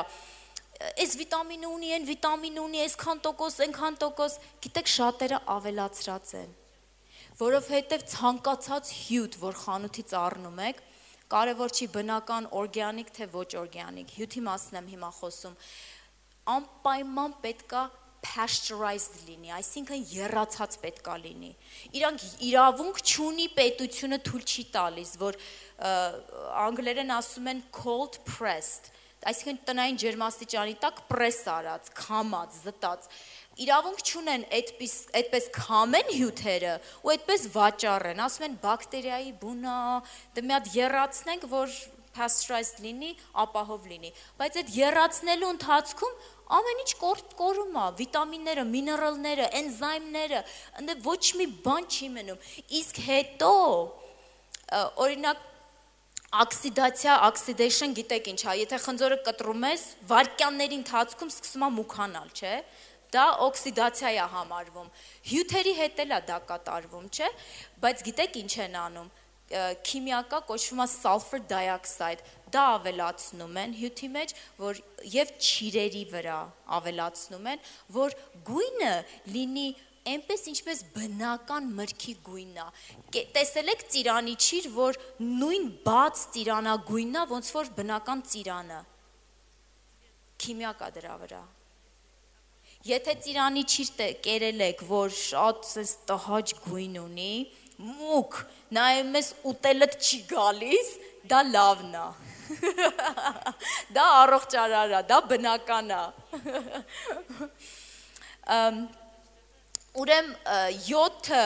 այս վիտամինը ունի, այն վիտամինը ունի, այսքան տոկոս, այնքան տոկոս, գիտեք շատերը ավելացրած են, որովհետև ցանկացած հյութ, որ խանութից առնում եք, կարևոր չի բնական օրգանիկ թե ոչ օրգանիկ, հյութի մասն եմ հիմա խոսում, անպայման պետքա pasteurized լինի, այսինքն եռացած պետքա լինի, իրանք իրավունք չունի պետությունը թույլ չի տալիս, որ անգլերեն ասում են cold pressed, այսինքն տնային ջերմաստիճանի տակ պրես արած, քամած, զտած, իրավունք չունեն այդպես քամեն հյութերը ու այդպես վաճառեն, ասում են բակտերիայի բունա, դե մի հատ եռացնենք, որ pasteurized լինի, ապահով լինի, բայց այդ եռացնելու ընթացքում ամեն ինչ կորում է, վիտամինները, միներալները, էնզայմները, ընդ ոչ մի բան չի մնում, իսկ հետո, օրինակ, oxidation գիտեք ինչ է, եթե խնձորը կտրում ես, վայրկյանների ընթացքում սկսում է մուքանալ, չէ, դա օքսիդացիա է համարվում, հյութերի հետ էլ է դա կատարվում, չէ, բայց գիտեք ինչ են անում, քիմիակա կոչվում է sulfur dioxide, դա ավելացնում են հյութի մեջ, որ և չիրերի վրա ավելացնում են, որ գույնը լինի այնպես ինչպես բնական մրգի գույնն է, տեսել եք ծիրանի չիր, որ նույն բաց ծիրանագույնն է, ոնց որ բնական ծիրանը, քիմիակա դրա վրա, եթե ծիրանի չիր կերել եք, որ շատ տհաճ գույն ունի, մուկ, նայում ես ուտելդ չի գալիս, դա լավն է, դա առողջարար է, դա բնական է, Ուրեմն 7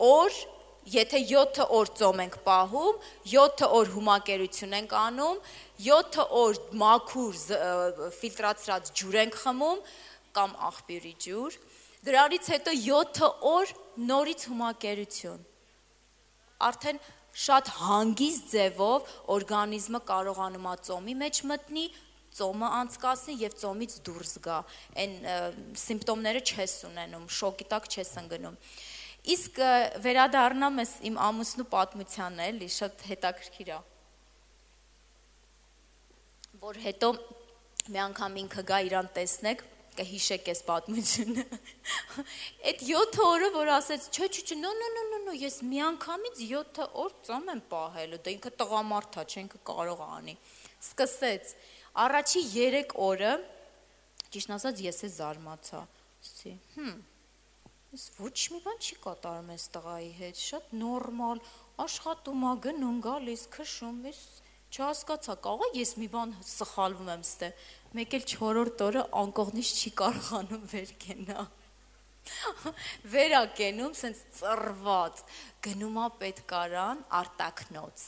օր, եթե 7 օր ծոմ ենք պահում, 7 օր հումակերություն ենք անում, 7 օր մաքուր ֆիլտրացրած ջուր ենք խմում կամ աղբյուրի ջուր, դրանից հետո 7 օր նորից հումակերություն։ Արդեն շատ հանգիստ ձևով օրգանիզմը կարողանում է ծոմի մեջ մտնի, ծոմը անցկացնի եւ ծոմից դուրս գա, այն սիմպտոմները չես ունենում, շոկի տակ չես ընկնում։ Իսկ վերադառնամ ես իմ ամուսնու պատմությանն էլի, շատ հետաքրքիր է, որ հետո մի անգամ ինքը գա իրան տեսնեք, կհիշեք այս պատմությունը։ Այդ 7 օրը, որ ասեց, չէ, նո, ես մի անգամից 7 օր ծոմ եմ պահել, դա ինքը տղամարդ է, չէ, ինքը կարող է անի։ Սկսեց։ Առաջի 3 օրը, ճիշտ ասած, ես է զարմացա։ Ասեցի, ես ոչ մի բան չի կատարում այս տղայի հետ, շատ նորմալ, աշխատում է, գնում, գալիս, քշում, ես չհասկացա, կարող ես մի բան սխալվում եմ ստե, մեկ էլ 4-րդ օրը անկողնից չի կարողանում վեր կենա։ Վեր ա կենում, սենց ծռված, գնում ա պետքարան, արտակնոց։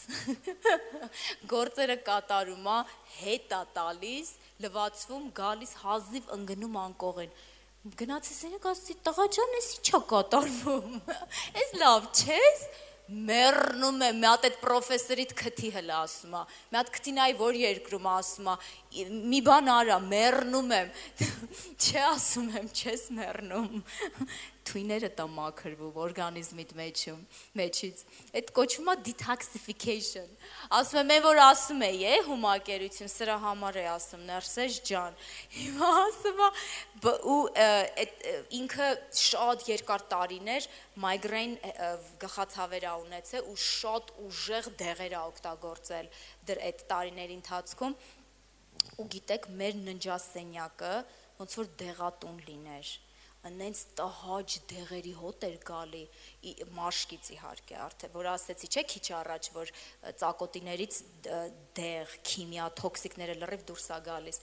Գործերը կատարում ա, հետ ա տալիս, լվացվում, գալիս, հազիվ ընկնում անկողին։ Գնացես ենեք ասեցի, տղա ջան, էսի չա կատարվում, ես լավ չես, մեռնում եմ, մի հատ այդ պրոֆեսորիդ քթի հլա ասում է, մի հատ քթինայի որ երկրում ասում է, մի բան արա, մեռնում եմ, չէ ասում եմ, չես մեռնում, թույները տա մաքրվում օրգանիզմիդ մեջից, այդ կոչվում է detoxification, ասում եմ, որ ասում է, հումակերություն, սրա համար է ասում, Ներսես ջան, հիմա ասում է, ու ինքը շատ երկար տարիներ migraine գլխացավեր ա ունեցել ու շատ ուժեղ դեղեր ա օգտագործել այդ տարիների ընթացքում ու գիտեք մեր ննջասենյակը ոնց որ դեղատուն լիներ անենց տհաճ դեղերի հոտ էր գալի մաշկից իհարկե արդեն որ ասեցի չէ քիչ առաջ որ ծակոտիներից դեղ քիմիա տոքսիկները լրիվ դուրս ա գալիս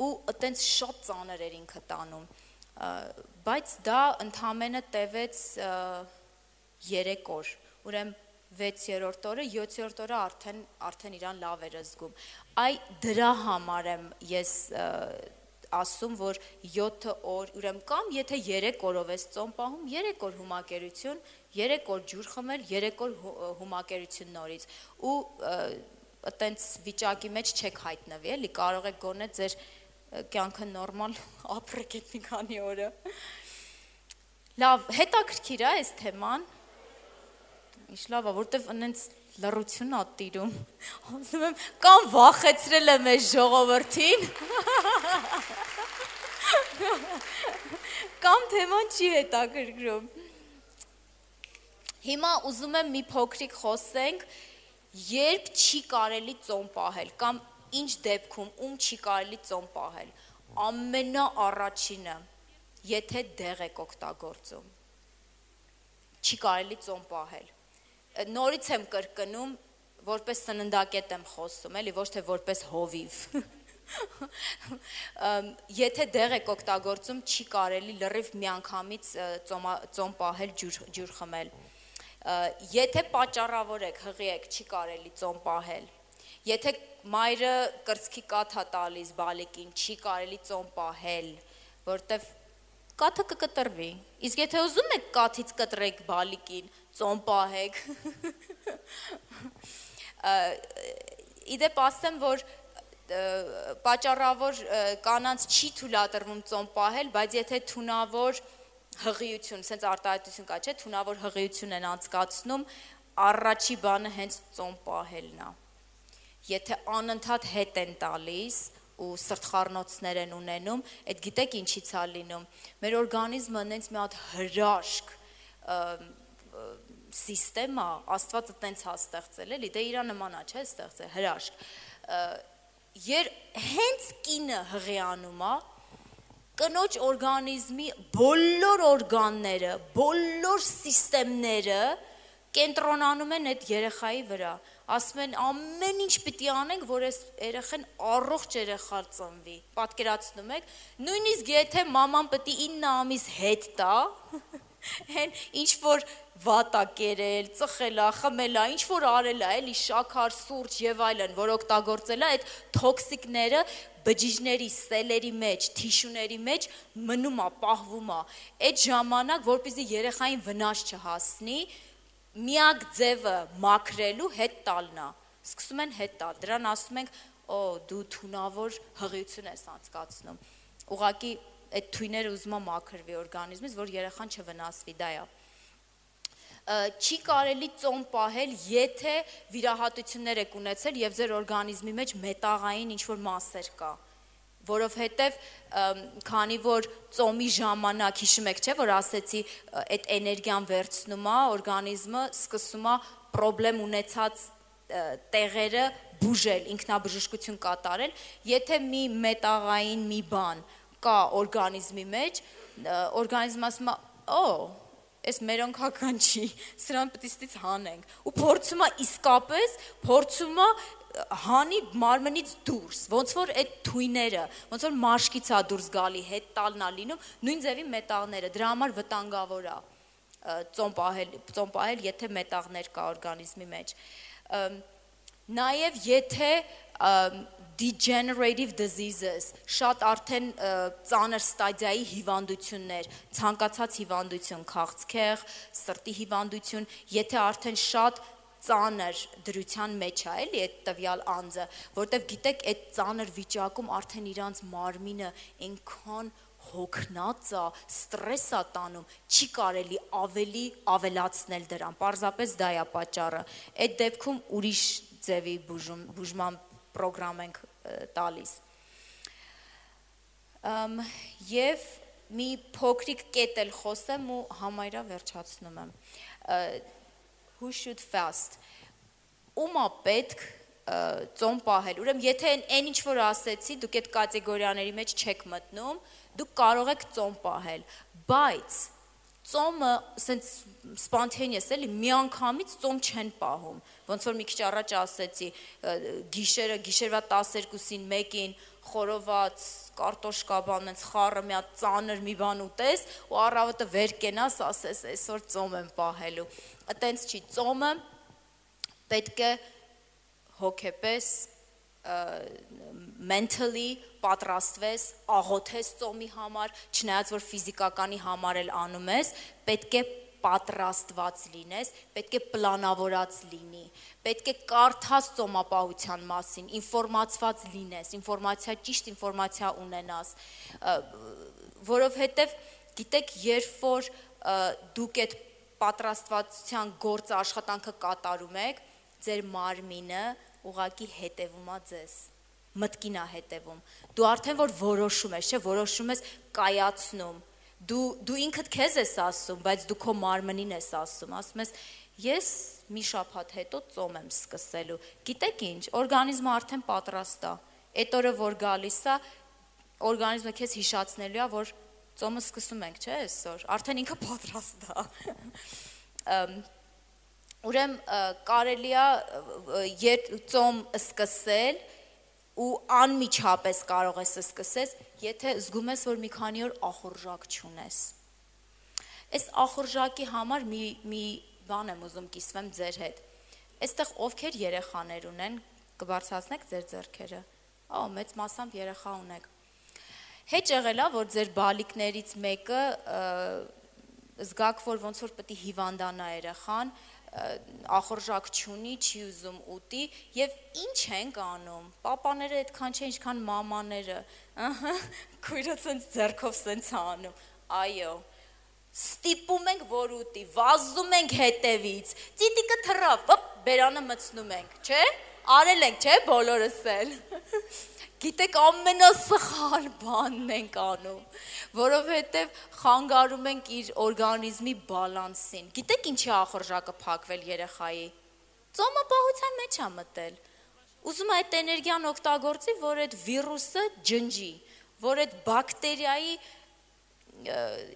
ու այտենց շատ ծանր էր ինքը տանում բայց դա ընդամենը տևեց 3 օր ուրեմն 6-րդ օրը 7-րդ օրը արդեն իրան լավ էր զգում այ դրա համար եմ ես ասում որ 7 օր ուրեմն կամ եթե 3 օրով ես ծոմ պահում 3 օր հումակերություն 3 օր ջուր խմել 3 օր հումակերություն նորից ու այտենց վիճակի մեջ չեք հայտնվի էլի կարող եք գոնե ձեր կյանքը նորմալ ապրեք այդ մի քանի օրը լավ հետաքրքիր է այս թեման ինչ լավ է որտեվ այնց լռություն ա տիրում ասում եմ կամ վախեցրել եմ այս ժողովրդին կամ թեման չի հետաքրքրում հիմա ուզում եմ մի փոքրիկ խոսենք երբ չի կարելի ծոմ պահել կամ ինչ դեպքում ում չի կարելի ծոմ պահել ամենաառաջինը եթե դեղ եք օգտագործում չի կարելի ծոմ պահել նորից եմ կրկնում որպես սննդակետ եմ խոսում էլի ոչ թե որպես հովիվ եթե դեղ եք օգտագործում չի կարելի լրիվ միանգամից ծոմ պահել ջուր խմել եթե պատճառավոր եք հղի եք չի կարելի ծոմ պահել եթե մայրը կրծքի կաթ է տալիս բալիկին չի կարելի ծոմ պահել որտեվ կաթը կկտրվի իսկ եթե ուզում եք կաթից կտրեք բալիկին ծոմ պահեք իդեպ ասեմ որ պատճառավոր կանանց չի թույլատրվում ծոմ պահել բայց եթե թունավոր հղիություն սենց արտահայտություն կա չէ թունավոր հղիություն են անցկացնում առաջի բանը հենց ծոմ պահելն է եթե անընդհատ հետ են տալիս ու սրտխառնոցներ են ունենում, այդ գիտեք ինչից է լինում։ Մեր օրգանիզմը այնց մի հատ հրաշք սիստեմա, Աստվածը տենց է ստեղծել, էլի, դե իրա նման է, չէ, ստեղծել, հրաշք։ Հենց կինը հղիանում է, կնոջ օրգանիզմի բոլոր օրգանները, բոլոր սիստեմները կենտրոնանում են այդ երեխայի վրա, ասում են ամեն ինչ պիտի անենք, որ այս երեխան առողջ երեխա ծնվի, պատկերացնում եք, նույնիսկ եթե մաման պիտի 9 ամիս հետ տա, հեն ինչ որ վատա կերել, ծխելա, խմելա, ինչ որ արելա, էլի շաքար, սուրճ եւ այլն, որ օգտագործելա այդ տոքսիկները բջիջների, սելերի մեջ, թիշուների մեջ մնում է, պահվում է։ Այդ ժամանակ, որպեսզի երեխային վնաս չհասնի, միակ ձևը մաքրելու հետ տալն է։ Սկսում են հետ տալ։ Դրան ասում ենք, դու թունավոր հղիություն ես անցկացնում։ Ուղղակի այդ թույները ուզում է մաքրվի օրգանիզմից, որ երեխան չվնասվի, դա է։ Չի կարելի ծոմ պահել, եթե վիրահատություններ եք ունեցել եւ ձեր օրգանիզմի մեջ մետաղային ինչ-որ մասեր կա, որովհետեւ քանի որ ծոմի ժամանակ, հիշում եք, չէ, որ ասեցի, այդ էներգիան վերցնում է, օրգանիզմը սկսում է պրոբլեմ ունեցած տեղերը բուժել, ինքնաբժշկություն կատարել, եթե մի մետաղային մի բան կա օրգանիզմի մեջ, օրգանիզմը ասում է, այս մերոնքական չի, սրան պետք է ստից հանենք, ու փորձում է իսկապես, փորձում է հանի մարմնից դուրս, ոնց որ այդ թույները, ոնց որ մաշկից է դուրս գալի, հետ տալն է լինում, նույն ձևի մետաղները, դրա համար վտանգավոր է ծոմ պահել, եթե մետաղներ կա օրգանիզմի մեջ։ Նաև եթե degenerative diseases, շատ արդեն ծանր ստադիայի հիվանդություններ, ցանկացած հիվանդություն, քաղցկեղ, սրտի հիվանդություն, եթե արդեն շատ ծանր դրության մեջ է, էլի այդ տվյալ անձը, որտեվ գիտեք, այդ ծանր վիճակում արդեն իրանց մարմինը այնքան հոգնած է, ստրես է տանում, չի կարելի ավելի ավելացնել դրան, պարզապես դա է պատճառը։ Այդ դեպքում ուրիշ ձևի բուժման պրոգրամ ենք տալիս։ Եվ մի փոքրիկ կետ էլ խոսեմ ու համայրա վերջացնում եմ։ Who should fast? Ումա պետք ծոմ պահել։ Ուրեմն եթե այն ինչ որ ասեցի, դուք այդ կատեգորիաների մեջ չեք մտնում, դուք կարող եք ծոմ պահել, բայց ծոմը սենց spontaneous էլի միանգամից ծոմ չեն պահում, ոնց որ մի քիչ առաջ ասեցի, գիշերվա 12-ին, 1-ին խորոված, կարտոշկա բան, այնց խառը մի հատ ծանր մի բան ուտես ու առավոտը վեր կենաս, ասես այսօր ծոմ եմ պահելու։ Այտենց չի, ծոմը պետք է հոգեպես mentally պատրաստվես, աղոթես ծոմի համար, չնայած որ ֆիզիկականի համար էլ անում ես, պետք է պատրաստված լինես, պետք է պլանավորած լինի, պետք է կարդաս ծոմապահության մասին, ինֆորմացված լինես, ճիշտ ինֆորմացիա ունենաս, որովհետև գիտեք, երբ որ դուք այդ պատրաստվածության գործը աշխատանքը կատարում եք, ձեր մարմինը ուղղակի հետևում է ձեզ, մտքին է հետևում, դու արդեն որ որոշում ես, չէ, որոշում ես կայացնում, դու ինքդ քեզ ես ասում, բայց դու քո մարմնին ես ասում ես, ես մի շաբաթ հետո ծոմ եմ սկսելու, գիտեք ինչ, օրգանիզմը արդեն պատրաստ է, այդ օրը որ գալիս է, օրգանիզմը քեզ հիշացնելու է, որ ծոմը սկսում ենք, չէ, այսօր, արդեն ինքը պատրաստ է, ուրեմն կարելի է ծոմ սկսել ու անմիջապես կարող ես սկսես, եթե զգում ես, որ մի քանի օր ախորժակ չունես։ Այս ախորժակի համար մի բան եմ ուզում կիսվեմ ձեր հետ։ Այստեղ ովքեր երեխաներ ունեն, կբարձրացնեք ձեր ձեռքերը։ Մեծ մասամբ երեխա ունեք։ Հետ եղել է, որ ձեր բալիկներից մեկը զգաք, որ ոնց որ պետք է հիվանդանա երեխան, ախորժակ չունի, չի ուզում ուտի եւ ինչ ենք անում, պապաները այդքան չէ, ինչքան մամաները, քույրը ցենց ձեռքով ցենց անում, այո, ստիպում ենք, որ ուտի, վազում ենք հետևից, ծիտիկը թռավ, բերանը մցնում ենք, չէ, արել ենք, չէ, բոլորս էլ, գիտեք, ամենասխալ բանն ենք անում, որովհետև խանգարում ենք իր օրգանիզմի բալանսին, գիտեք ինչի ախորժակը փակվել երեխայի, ծոմապահության մեջ է մտել, ուզում է այդ էներգիան օգտագործի, որ այդ վիրուսը ջնջի, որ այդ բակտերիայի,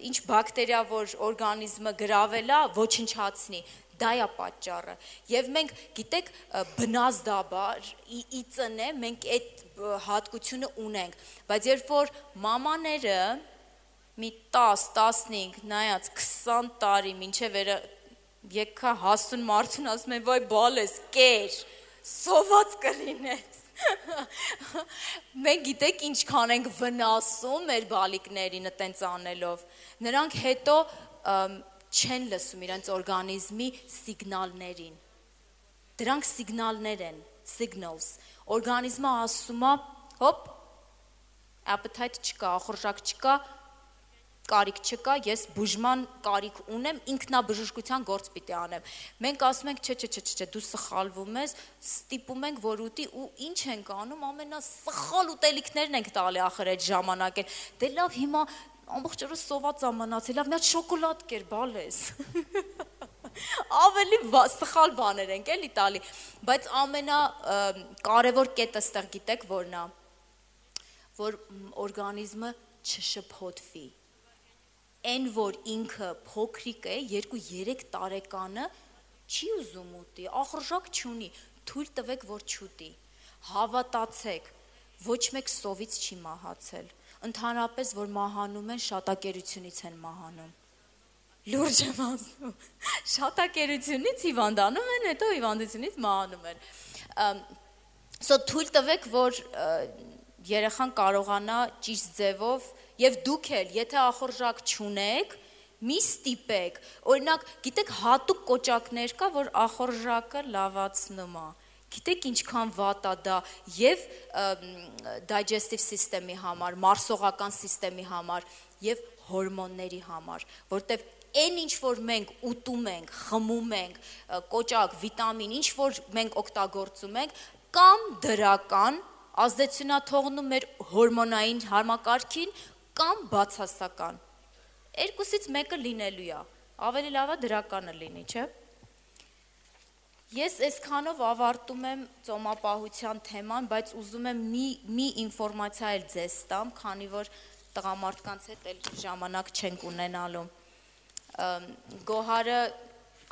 ինչ բակտերիա, որ օրգանիզմը գրավել է, ոչնչացնի, Դա է պատճառը։ Եվ մենք, գիտեք, բնազդաբար ի ծնե մենք այդ հատկությունը ունենք, բայց երբ որ մամաները մի 10-15, նայած 20 տարի մինչև եկա հասուն մարդուն ասում են, վայ բալես, կեր, սոված կլինես։ Մենք գիտեք ինչքան ենք վնասում մեր բալիկներին տենց անելով։ Նրանք հետո չեն լսում իրենց օրգանիզմի սիգնալներին։ Դրանք սիգնալներ են, signals։ Օրգանիզմը ասում է, հոպ, appetite չկա, ախորժակ չկա, կարիք չկա, ես բուժման կարիք ունեմ, ինքնաբժշկության գործ պիտի անեմ։ Մենք ասում ենք, չէ, դու սխալվում ես, ստիպում ենք, որ ուտի ու ինչ ենք անում, ամենասխալ ուտելիքներն ենք տալի ախր այդ ժամանակին։ Դե լավ, հիմա ամբողջ օրը սոված ամնացել, լավ, մի հատ շոկոլադ կեր, բալես։ Ավելի սխալ բաներ ենք էլի տալի, բայց ամենակարևոր կետը ստեղ գիտեք որն է, որ օրգանիզմը չշփոթվի։ Այն որ ինքը փոքրիկ է, 2-3 տարեկանը չի ուզում ուտի, ախորժակ չունի, թույլ տվեք որ չուտի։ Հավատացեք, ոչ մեկ սովից չի մահացել։ Ընդհանրապես որ մահանում են, շատակերությունից են մահանում։ Լուրջ եմ ասում։ Շատակերությունից հիվանդանում են, հետո հիվանդությունից մահանում են։ Թույլ տվեք, որ երեխան կարողանա ճիշտ ձևով եւ դուք էլ, եթե ախորժակ չունեք, մի ստիպեք։ Օրինակ, գիտեք, հատուկ կոճակներ կա, որ ախորժակը լավացնում է։ Գիտեք ինչքան վատ է դա եւ digestive system-ի համար, մարսողական սիստեմի համար եւ հորմոնների համար, որտեւ այն ինչ որ մենք ուտում ենք, խմում ենք, կոճակ, վիտամին, ինչ որ մենք օգտագործում ենք, կամ դրական ազդեցություն է թողնում մեր հորմոնային համակարգին, կամ բացասական։ Երկուսից մեկը լինելու է։ Ավելի լավ է դրականը լինի, չէ՞։ Ես այսքանով ավարտում եմ ծոմապահության թեման, բայց ուզում եմ մի ինֆորմացիա էլ ձեզ տամ, քանի որ տղամարդկանց հետ էլ ժամանակ չենք ունենալու։ Գոհարը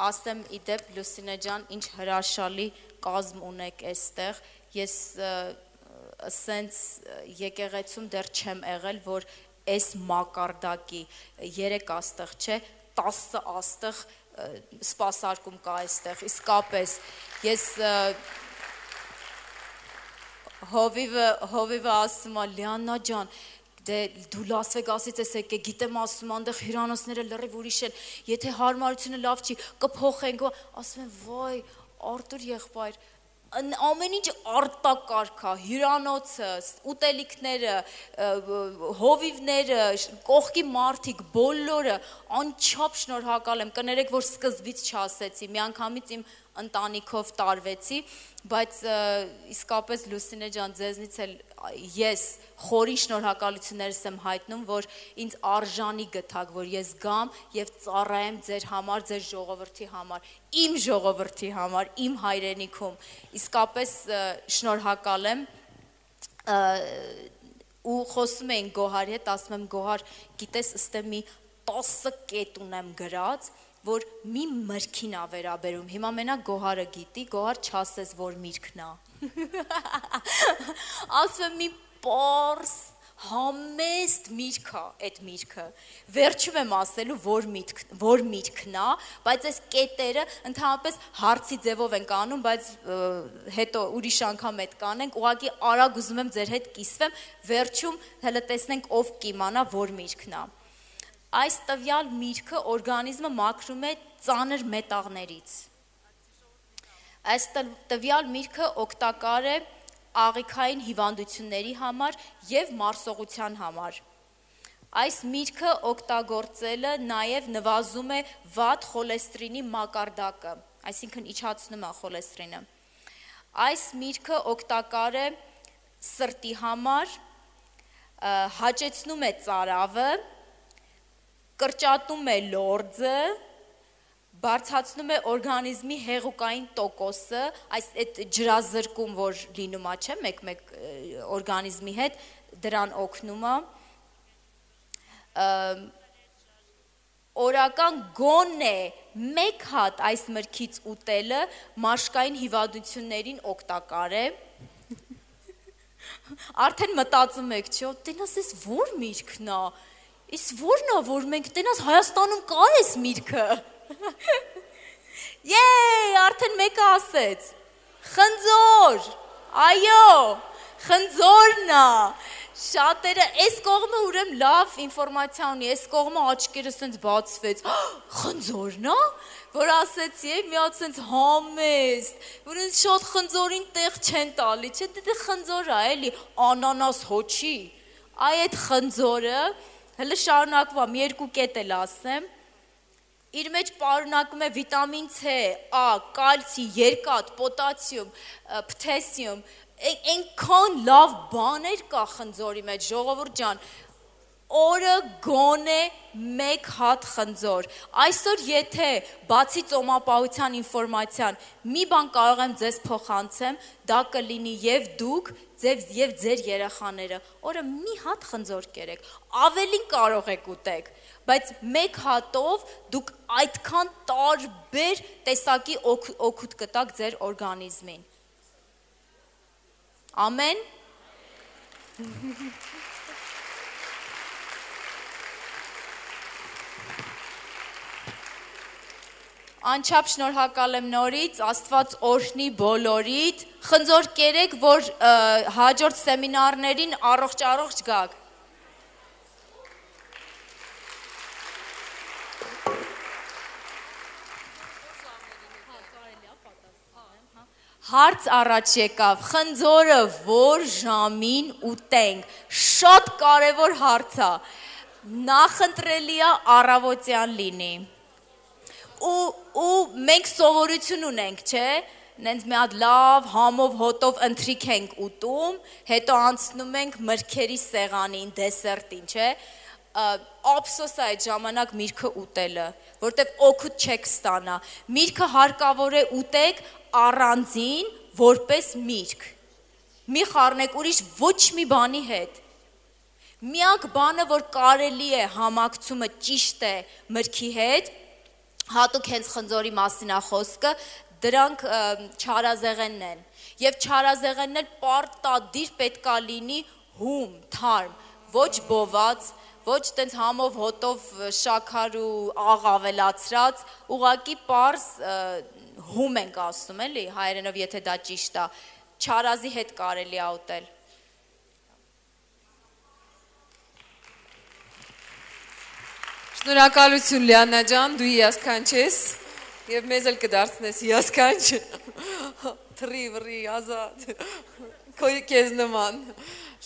ասեմ իդեպ Լուսինե ջան, ինչ հրաշալի կազմ ունեք այստեղ։ Ես սենց եկեղեցում դեռ չեմ եղել, որ այս մակարդակի 3 աստղ չէ, 10 աստղ սպասարկում կա այստեղ, իսկապես, ես հովիվը ասում է, Լիաննա ջան, դու Լաս Վեգասից ես եկե, գիտեմ ասում, անդեղ հյուրանոցները լրիվ ուրիշ են, եթե հարմարությունը լավ չի, կփոխենք, ասում են, վայ, Արտուր եղբայր, ամեն ինչ արտակարգ է, հյուրանոցը, ուտելիքները, հովիվները, կողքի մարդիկ, բոլորը, անչափ շնորհակալ եմ, կներեք, որ սկզբից չասեցի, միանգամից իմ ընտանիքով տարվեցի, բայց իսկապես Լուսինե ջան, ձեզնից էլ ես խորին շնորհակալություններս եմ հայտնում, որ ինձ արժանի գտաք, որ ես գամ եւ ծառայեմ ձեր համար, ձեր ժողովրդի համար, իմ ժողովրդի համար, իմ հայրենիքում, իսկապես շնորհակալ եմ ու խոսում էին Գոհարի հետ, ասում եմ Գոհար, գիտես, ըստե մի 10 կետ ունեմ գրած, որ մի մրգին ա վերաբերում, հիմա մենակ Գոհարը գիտի, Գոհար չասես, որ միրգն ա, ասում եմ մի պարս, համեստ միրգ ա, այդ միրգը, վերջում եմ ասելու, որ միրգն ա, բայց այս կետերը ընդհանրապես հարցի ձևով ենք անում, բայց հետո ուրիշ անգամ հետ կանենք, ուղղակի արագ ուզում եմ ձեր հետ կիսվեմ, վերջում հələ տեսնենք ով կիմանա, որ միրգն ա։ Այս տվյալ միրգը օրգանիզմը մաքրում է ծանր մետաղներից։ Այս տվյալ միրգը օգտակար է աղիքային հիվանդությունների համար եւ մարսողության համար։ Այս միրգը օգտագործելը նաեւ նվազում է վատ խոլեստերինի մակարդակը, այսինքն իջացնում է խոլեստերինը։ Այս միրգը օգտակար է սրտի համար, հաճեցնում է ծարավը, կրճատում է լորձը, բարձրացնում է օրգանիզմի հեղուկային տոկոսը, այս այդ ջրազրկում, որ լինում է, չէ, մեկ օրգանիզմի հետ, դրան օգնում է, օրական գոնե մեկ հատ այս մրգից ուտելը մաշկային հիվանդություններին օգտակար է։ Արդեն մտածում եք, չէ՞, տենաս էս որ միրգն է։ Էս որն է, որ մենք տենաս Հայաստանում կա էս միրգը։ Եй, արդեն մեկը ասեց։ Խնձոր։ Այո, խնձորն է։ Շատերը այս կողմը ուրեմն լավ ինֆորմացիա ունի, այս կողմը աչքերը սենց բացվեց։ Խնձորն է, որ ասեցի, մի հատ սենց համեստ, որ ինձ շատ խնձորին տեղ չեն տալի, չէ, դե խնձոր է, էլի, անանաս հոչի։ Այ այդ խնձորը, հələ շարունակվամ, երկու կետ էլ ասեմ, իր մեջ պարունակում է վիտամին C, A, կալցի, երկաթ, պոտասիում, փոթասիում, այնքան լավ բաներ կա խնձորի մեջ, ժողովուրդ ջան, օրը գոնե մեկ հատ խնձոր, այսօր եթե բացի ծոմապահության ինվորմացիան, մի բան կարող եմ ձեզ փոխանցեմ, դա կլինի և դուք, և ձեր երեխաները, օրը մի հատ խնձոր կերեք, ավելին կարող եք ուտեք, բայց մեկ հատով դուք այդքան տարբեր տեսակի օգուտ կտաք ձեր օրգանիզմին, ամեն, Անչափ շնորհակալ եմ նորից, Աստված օրհնի բոլորիդ, խնձոր կերեք, որ հաջորդ սեմինարներին առողջ գաք։ Հարց առաջ եկավ, խնձորը որ ժամին ուտենք, շատ կարևոր հարց է, նախընտրելի է առավոտյան լինի։ Ու մենք սովորություն ունենք, չէ, նենց մի հատ լավ համով հոտով ընթրիք ենք ուտում, հետո անցնում ենք մրգերի սեղանին, դեսերտին, չէ, ափսոս է այդ ժամանակ միրգը ուտելը, որտև օգուտ չեք ստանա, միրգը հարկավոր է ուտեք առանձին, որպես միրգ, մի խառնեք ուրիշ ոչ մի բանի հետ, միակ բանը, որ կարելի է համակցումը ճիշտ է մրգի հետ, հատուկ հենց խնձորի մասին է խոսքը, դրանք չարազեղենն են, և չարազեղենն էլ պարտադիր պետքա լինի հում, թարմ, ոչ բոված, ոչ տենց համով հոտով շաքար ու աղ ավելացրած, ուղղակի պարզ հում ենք ասում, էլի, հայերենով եթե դա ճիշտ է, չարազի հետ կարելի է ուտել։ Շնորհակալություն Լիաննա ջան, դու հիասքանչ ես և մեզ էլ կդարձնես հիասքանչ, թռի վռի ազատ, քեզ նման,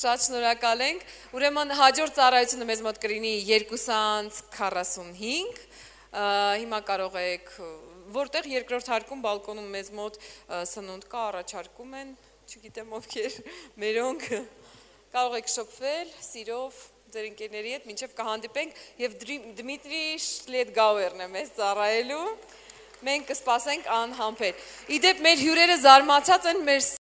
շատ շնորհակալ ենք, ուրեմն հաջորդ ծառայությունը մեզ մոտ կլինի 2:45, հիմա կարող եք, որտեղ երկրորդ հարկում բալկոնում մեզ մոտ սնունդ կա, առաջարկում են, չգիտեմ ովքեր, մերոնք, կարող եք շոկվել, սիրով, ձեր ընկերների հետ, մինչև կհանդիպենք և Դմիտրի Շլետգաուերն է մեզ ծառայելու, մենք կսպասենք անհամբեր։ Իդեպ մեր հյուրերը զարմացած են մեր